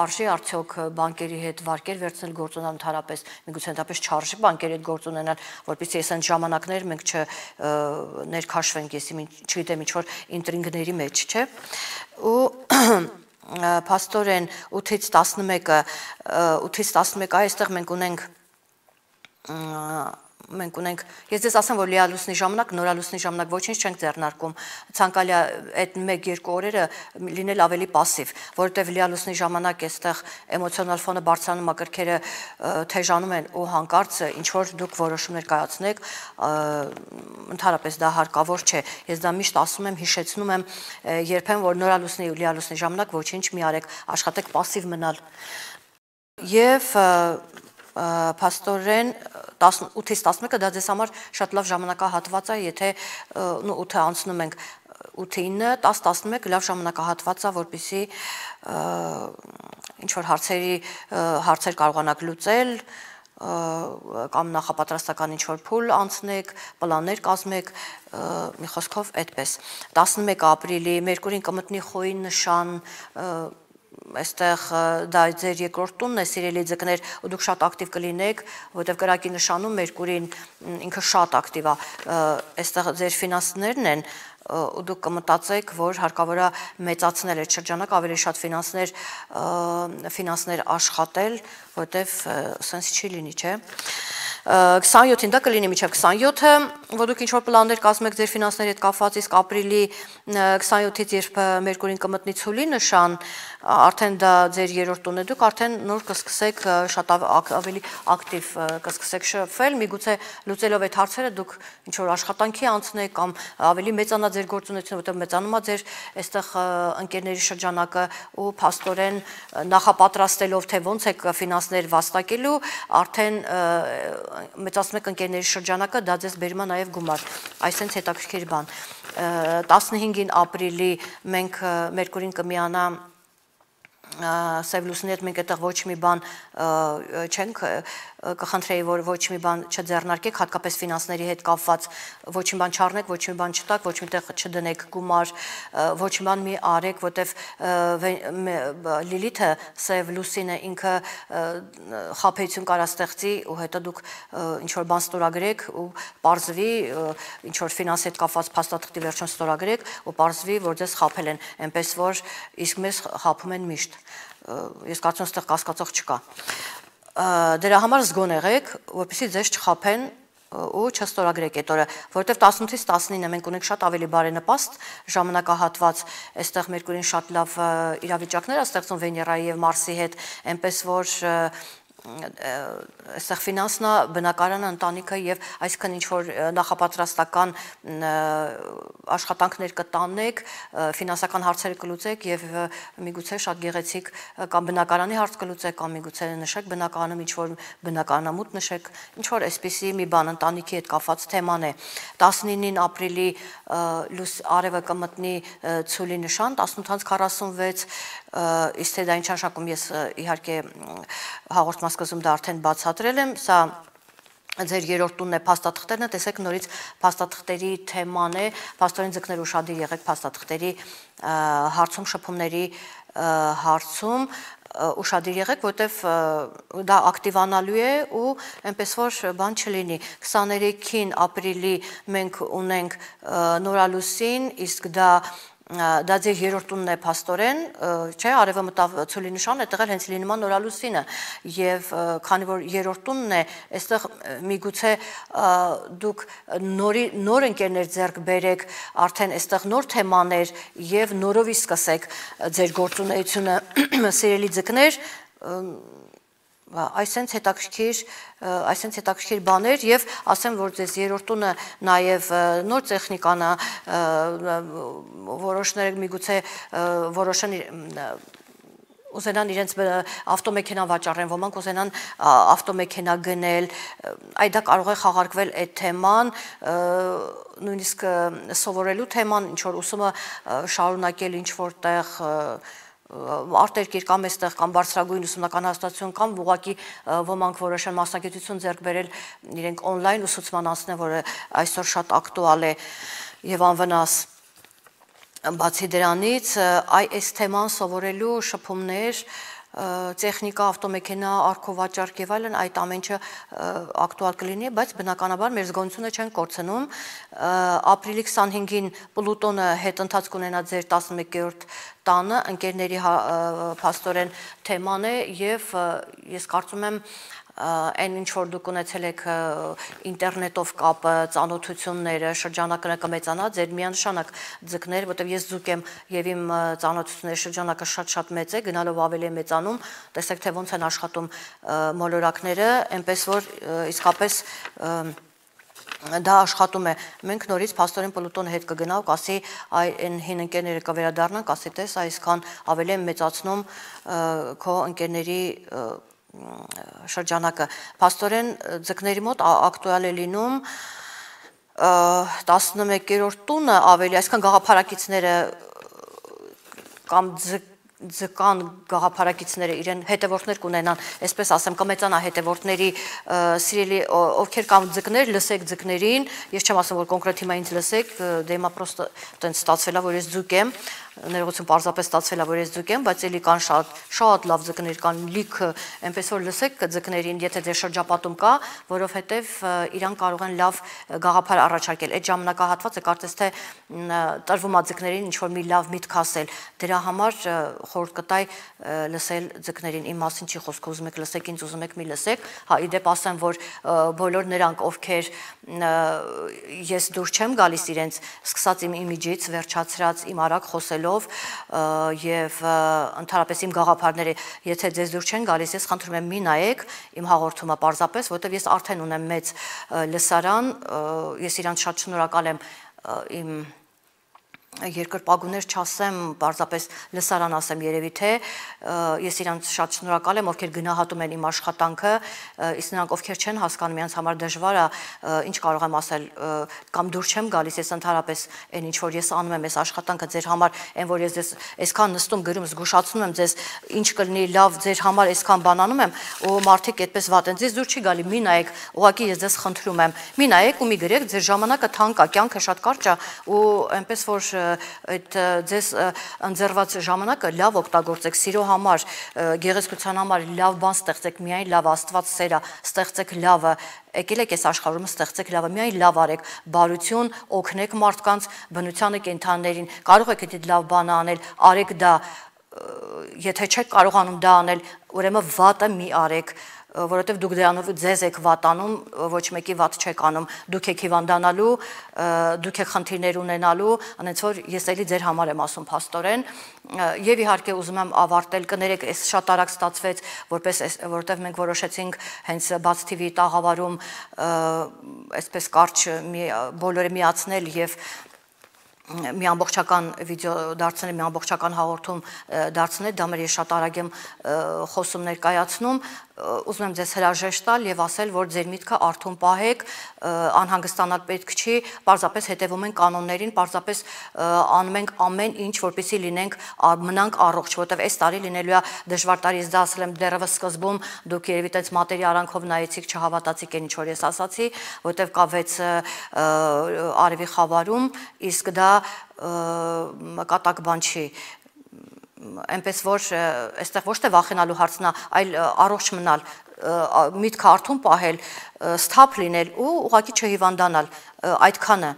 արժի արդյոք բանկերի հետ վարկեր վերցնել գործունեալ ընդհանրապես, միգուցե ընդհանրապես չարժի բանկերի հետ գործ ունենալ, որպեսզի այս ժամանակներ մենք չներքաշվենք, ես չգիտեմ ինչ որ ինտրիգների մեջ, չէ։ Ու փաստորեն 8-ից 11-ը, 8-ից 11-ը այստեղ մենք ունենք, ես ձեզ ասեմ, որ լիալուսնի ժամանակ, նորալուսնի ժամանակ ոչինչ չենք ձեռնարկում, ցանկալի է այդ 1-2 օրերը լինել ավելի պասիվ, որովհետև լիալուսնի ժամանակ այստեղ էմոցիոնալ ֆոնը բարձրանում է, կրքերը թեժանում են ու հանկարծ ինչ որ դուք որոշումներ կայացնեք, ընդհանրապես դա հարկավոր չէ, ես դա միշտ ասում եմ, հիշեցնում եմ, երբեմն որ նորալուսնի ու լիալուսնի ժամանակ ոչինչ մի արեք, աշխատեք պասիվ մնալ։ Եվ փաստորեն 8-ից 11-ը դա ձեզ համար շատ լավ ժամանակահատված է, եթե 8-ը անցնում ենք 8-9, 10-11 լավ ժամանակահատված է, որպեսզի ինչ որ հարցեր կարողանաք լուծել, կամ նախապատրաստական ինչ որ փուլ անցնեք, պլաններ կազմեք, մի խոսքով այդպես։ 11 ապրիլի Մերկուրին կմտնի խոյի նշան, այստեղ դա ձեր երկրորդ տունն է, սիրելի ձկներ, ու դուք շատ ակտիվ կլինեք, որովհետև կրակի նշանում Մերկուրին ինքը շատ ակտիվ է, այստեղ ձեր ֆինանսներն են, ու դուք կմտածեք, որ հարկավոր է մեծացնել այդ շրջանակը, ավելի շատ ֆինանսներ աշխատել, որովհետև սենց չի լինի, չէ։ 27-ին դա կլինի մինչև 27-ը, որ դուք ինչ-որ պլաններ կազմեք ձեր ֆինանսների հետ կապված, իսկ ապրիլի 27-ից երբ Մերկուրին կմտնի ցուլի նշան, արդեն դա ձեր երրորդ տունն է, դուք արդեն նոր կսկսեք շատ ավելի ակտիվ կսկսեք շփվել, միգուցե լուծելով այդ հարցերը դուք ինչ-որ աշխատանքի անցնեք կամ ավելի մեծանա ձեր գործունեությունը, որտեղ մեծանում է ձեր այստեղ ընկերների շրջանակը ու փաստորեն նախապատրաստելով թե ոնց եք ֆինանսներ վաստակելու, արդեն մեծացնում եք ընկերների շրջանակը, դա ձեզ բերում է նաև գումար, այսինքն հետաքրքիր բան։ 15-ին ապրիլի մենք Մերկուրին կմիանա Սև լուսնի հետ մենք այդտեղ ոչ մի բան չենք կխնդրեի, որ ոչ մի բան չձեռնարկեք, հատկապես ֆինանսների հետ կապված, ոչ մի բան չառնեք, ոչ մի բան չտաք, ոչ միտեղ չդնեք գումար, ոչ մի բան մի արեք, որտեվ Լիլիթը, Սև լուսինը ինքը խաբեություն կարա ստեղծի ու հետո դուք ինչ որ բան ստորագրեք ու պարզվի, ինչ որ ֆինանսի հետ կապված փաստաթղթի վերջում ստորագրեք ու պարզվի, որ ձեզ խաբել են, այնպես որ իսկ մեզ խաբում են միշտ։ Ես կարծում եմ, այստեղ կասկածող չկա։ Դրա համար զգոն եղեք, որպեսզի ձեզ չխաբեն ու չստորագրեք այդ օրը, որովհետև 18-ից 19-ը մենք ունենք շատ ավելի բարենպաստ ժամանակահատված, այստեղ Մերկուրին շատ լավ իրավիճակներ է ստեղծում Վեներայի եւ Մարսի հետ, այնպես որ այստեղ ֆինանսնա բնակարանը ընտանիքը եւ այսքան ինչ որ նախապատրաստական աշխատանքներ կտանեք, ֆինանսական հարցերը կլուծեք եւ միգուցե շատ գեղեցիկ կամ բնակարանի հարց կլուծեք կամ միգուցե նշեք բնակարանում ինչ որ բնակարանամուտ նշեք, ինչ որ այսպիսի մի բան ընտանիքի հետ կապված թեման է 19-ին ապրիլի արևը կմտնի ցուլի նշան 18:46 իսկ թե դա ինչ նշանակում ես իհարկե հաղորդման սկզբում դա արդեն բացատրել եմ, սա ձեր երրորդ տունն է փաստաթղթերն է, տեսեք նորից փաստաթղթերի թեման է, փաստորեն ձկներ ուշադիր եղեք փաստաթղթերի հարցում շփումների հարցում ուշադիր եղեք, որովհետև դա ակտիվանալու է ու այնպես որ բան չլինի 23-ին ապրիլի մենք ունենք նորալուսին, իսկ դա ձեր երրորդ տունն է փաստորեն, չէ, արևը մտավ ցուլի նշան, այդտեղ էլ հենց լինում է նորալուսինը եւ քանի որ երրորդ տունն է, այստեղ միգուցե դուք նոր ընկերներ ձեռք բերեք, արդեն այստեղ նոր թեմաներ եւ նորովի սկսեք ձեր գործունեությունը, սիրելի ձկներ, այսենց հետաքրքիր բաներ եւ ասեմ որ ձեզ երրորդ տունը նաեւ նոր տեխնիկան է որոշները միգուցե որոշան ուզենան իրենց ավտոմեքենա վաճառեն, ոմանք ուզենան ավտոմեքենա գնել, այ դա կարող է խաղարկվել այդ թեման, նույնիսկ սովորելու թեման, ինչ որ ուսումը շարունակել ինչ որտեղ արտերկիր կամ այստեղ կամ բարձրագույն ուսումնական հաստատություն կամ ուղղակի ոմանք որոշան մասնագիտություն ձեռք բերել իրենք on-line ուսուցման անցնեն, որը այսօր շատ ակտուալ է եւ անվնաս բացի դրանից այս թեման սովորելու շփումներ տեխնիկա, ավտոմեքենա, արկովաճառք եւ այլն այդ ամենը ակտուալ կլինի, բայց բնականաբար մեր զգոնությունը չեն կորցնում ապրիլի 25-ին Պլուտոնը հետընթաց կունենա ձեր 11-րդ տանը, ընկերների փաստորեն թեման է եւ ես կարծում եմ այն ինչ որ դուք ունեցել եք ինտերնետով կապը, ծանոթությունները, շրջանակը կմեծանա, ձեր միանշանակ ձկներ, որտեղ ես ձուկ եմ եւ իմ ծանոթությունների շրջանակը շատ մեծ է, գնալով ավելի է մեծանում, տեսեք թե ոնց են աշխատում մոլորակները, այնպես որ իսկապես դա աշխատում է, մենք նորից փաստորեն Պլուտոնը հետ կգնա ու կասի այն հին ընկերները կվերադառնան, կասի տես այսքան ավելի եմ մեծացնում քո ընկերների շրջանակը, փաստորեն ձկների մոտ ակտուալ է լինում 11-րդ տունը ավելի, այսքան գաղափարակիցները կամ ձկան գաղափարակիցները իրեն հետևորդներ կունենան, այսպես ասեմ, կմեծանա հետևորդների սիրելի ովքեր կամ ձկներ, լսեք ձկներին, ես չեմ ասում որ կոնկրետ հիմա ինձ լսեք, դե հիմա պրոստը տենց ստացվել է որ ես ձուկ եմ, ներողություն պարզապես ստացվել է որ ես ձուկ եմ, բայց էլի կան շատ լավ ձկներ կան, լիքը, այնպես որ լսեք ձկներին, եթե ձեր շրջապատում կա, որովհետև իրան կարող են լավ գաղափար առաջարկել։ Այդ ժամանակահատվածը կարծես թե տրվում է ձկներին ինչ որ մի լավ միտք ասել։ Դրա համար խորհուրդ կտայ լսել ձկներին, իմ մասին չի խոսքը, ուզում եք լսեք, ինձ ուզում եք մի լսեք։ Հա, իդեպ ասեմ, որ բոլոր նրանք, ովքեր ես դուր չեմ գալիս իրենց, սկսած իմ իմիջից, վերջացրած իմ արագ խոսելով եւ ընդհանրապես իմ գաղափարները, եթե ձեզ դուր չեն գալիս, ես խնդրում եմ մի նայեք իմ հաղորդումը պարզապես, որովհետեւ ես արդեն ունեմ մեծ լսարան, ես իրանց շատ շնորհակալ եմ իմ երկրպագուներ չասեմ, պարզապես լսարան ասեմ երևի թե ես իրանց շատ շնորհակալ եմ, ովքեր գնահատում են իմ աշխատանքը, իսկ նրանք ովքեր չեն հասկանում, իրանց համար դժվար է, ինչ կարող եմ ասել, կամ դուր չեմ գալիս, ես ընդհանրապես այն ինչ որ ես անում եմ, այս աշխատանքը ձեր համար, այն որ ես այսքան նստում գրում, զգուշացնում եմ ձեզ, ինչ կլինի լավ ձեր համար այսքան բան անում եմ, ու մարդիկ այդպես վատ են, ձեզ դուր չի գալի, մի նայեք, ուղղակի ես ձեզ խնդրում եմ, մի նայեք ու մի գրեք, ձեր ժամանակը թանկ է, կյանքը շատ կարճ է, ու այնպես որ այդ ձեզ ընձեռված ժամանակը լավ օգտագործեք, սիրո համար, գեղեցկության համար լավ բան ստեղծեք, միայն լավ Աստված սեր է, ստեղծեք լավը, եկել եք այս աշխարհում ստեղծեք լավը, միայն լավ արեք, բարություն, օգնեք մարդկանց, բնությանը, կենդանիներին, կարող եք այդ լավ բանը անել, արեք դա, եթե չեք կարողանում դա անել, ուրեմն վատը մի արեք, որովհետև դուք դրանով ձեզ եք վատանում, ոչ մեկի վատ չեք անում, դուք եք հիվանդանալու, դուք եք խնդիրներ ունենալու, այնց որ ես էլի ձեր համար եմ ասում փաստորեն, եւ իհարկե ուզում եմ ավարտել, կներեք, այս շատ արագ ստացվեց, որովհետև մենք որոշեցինք հենց Բաց TV-ի տաղավարում այսպես կարճ բոլորը միացնել եւ մի ամբողջական վիդեո դարձնել, մի ամբողջական հաղորդում դարձնել, դա մեր ես շատ արագ եմ խոսում ներկայացնում, ուզում եմ ձեզ հրաժեշտ տալ եւ ասել, որ ձեր միտքը արթուն պահեք, անհանգստանալ պետք չի, պարզապես հետևում ենք կանոններին, պարզապես անում ենք ամեն ինչ, որպեսզի լինենք մնանք առողջ, որովհետեւ այս տարի լինելու է դժվար տարի, ես դա ասել եմ դեռևս սկզբում, դուք երևի տենց մատերի արանքով նայեցիք, չհավատացիք այն ինչ որ ես ասացի, որովհետեւ կա 6 արևի խավարում, իսկ դա կատակ բան չի, այնպես որ այստեղ ոչ թե վախենալու հարցն է, այլ առողջ մնալ, միտքը արթուն պահել, սթափ լինել ու ուղղակի չհիվանդանալ, այդքանը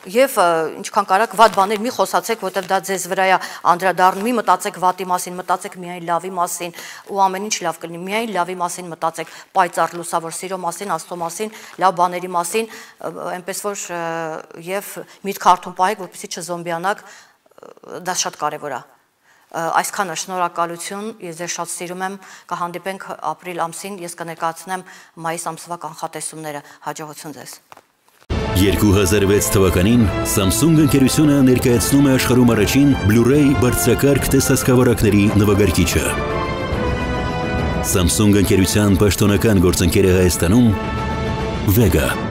եւ ինչքան կարաք վատ բաներ մի խոսացեք, որտեվ դա ձեզ վրա է անդրադառնում, մի մտածեք վատի մասին, մտածեք միայն լավի մասին ու ամեն ինչ լավ կլինի, միայն լավի մասին մտածեք, պայծառ լուսավոր սիրո մասին, Աստծո մասին, լավ բաների մասին, այնպես որ եւ միտքը արթուն պահեք, որպեսզի չզոմբիանաք, դա շատ կարեւոր է։ Այսքանը շնորհակալություն, ես ձեզ շատ սիրում եմ, կհանդիպենք ապրիլ ամսին, ես կներկայացնեմ մայիս ամսվա կանխատեսումները, հաջողություն ձեզ։ 2006 թվականին Samsung ընկերությունը ներկայացնում է աշխարհում առաջին Blu-ray բարձրակարգ տեսահսկավարակների նվագարկիչը։ Samsung ընկերության պաշտոնական գործընկերը Հայաստանում Vega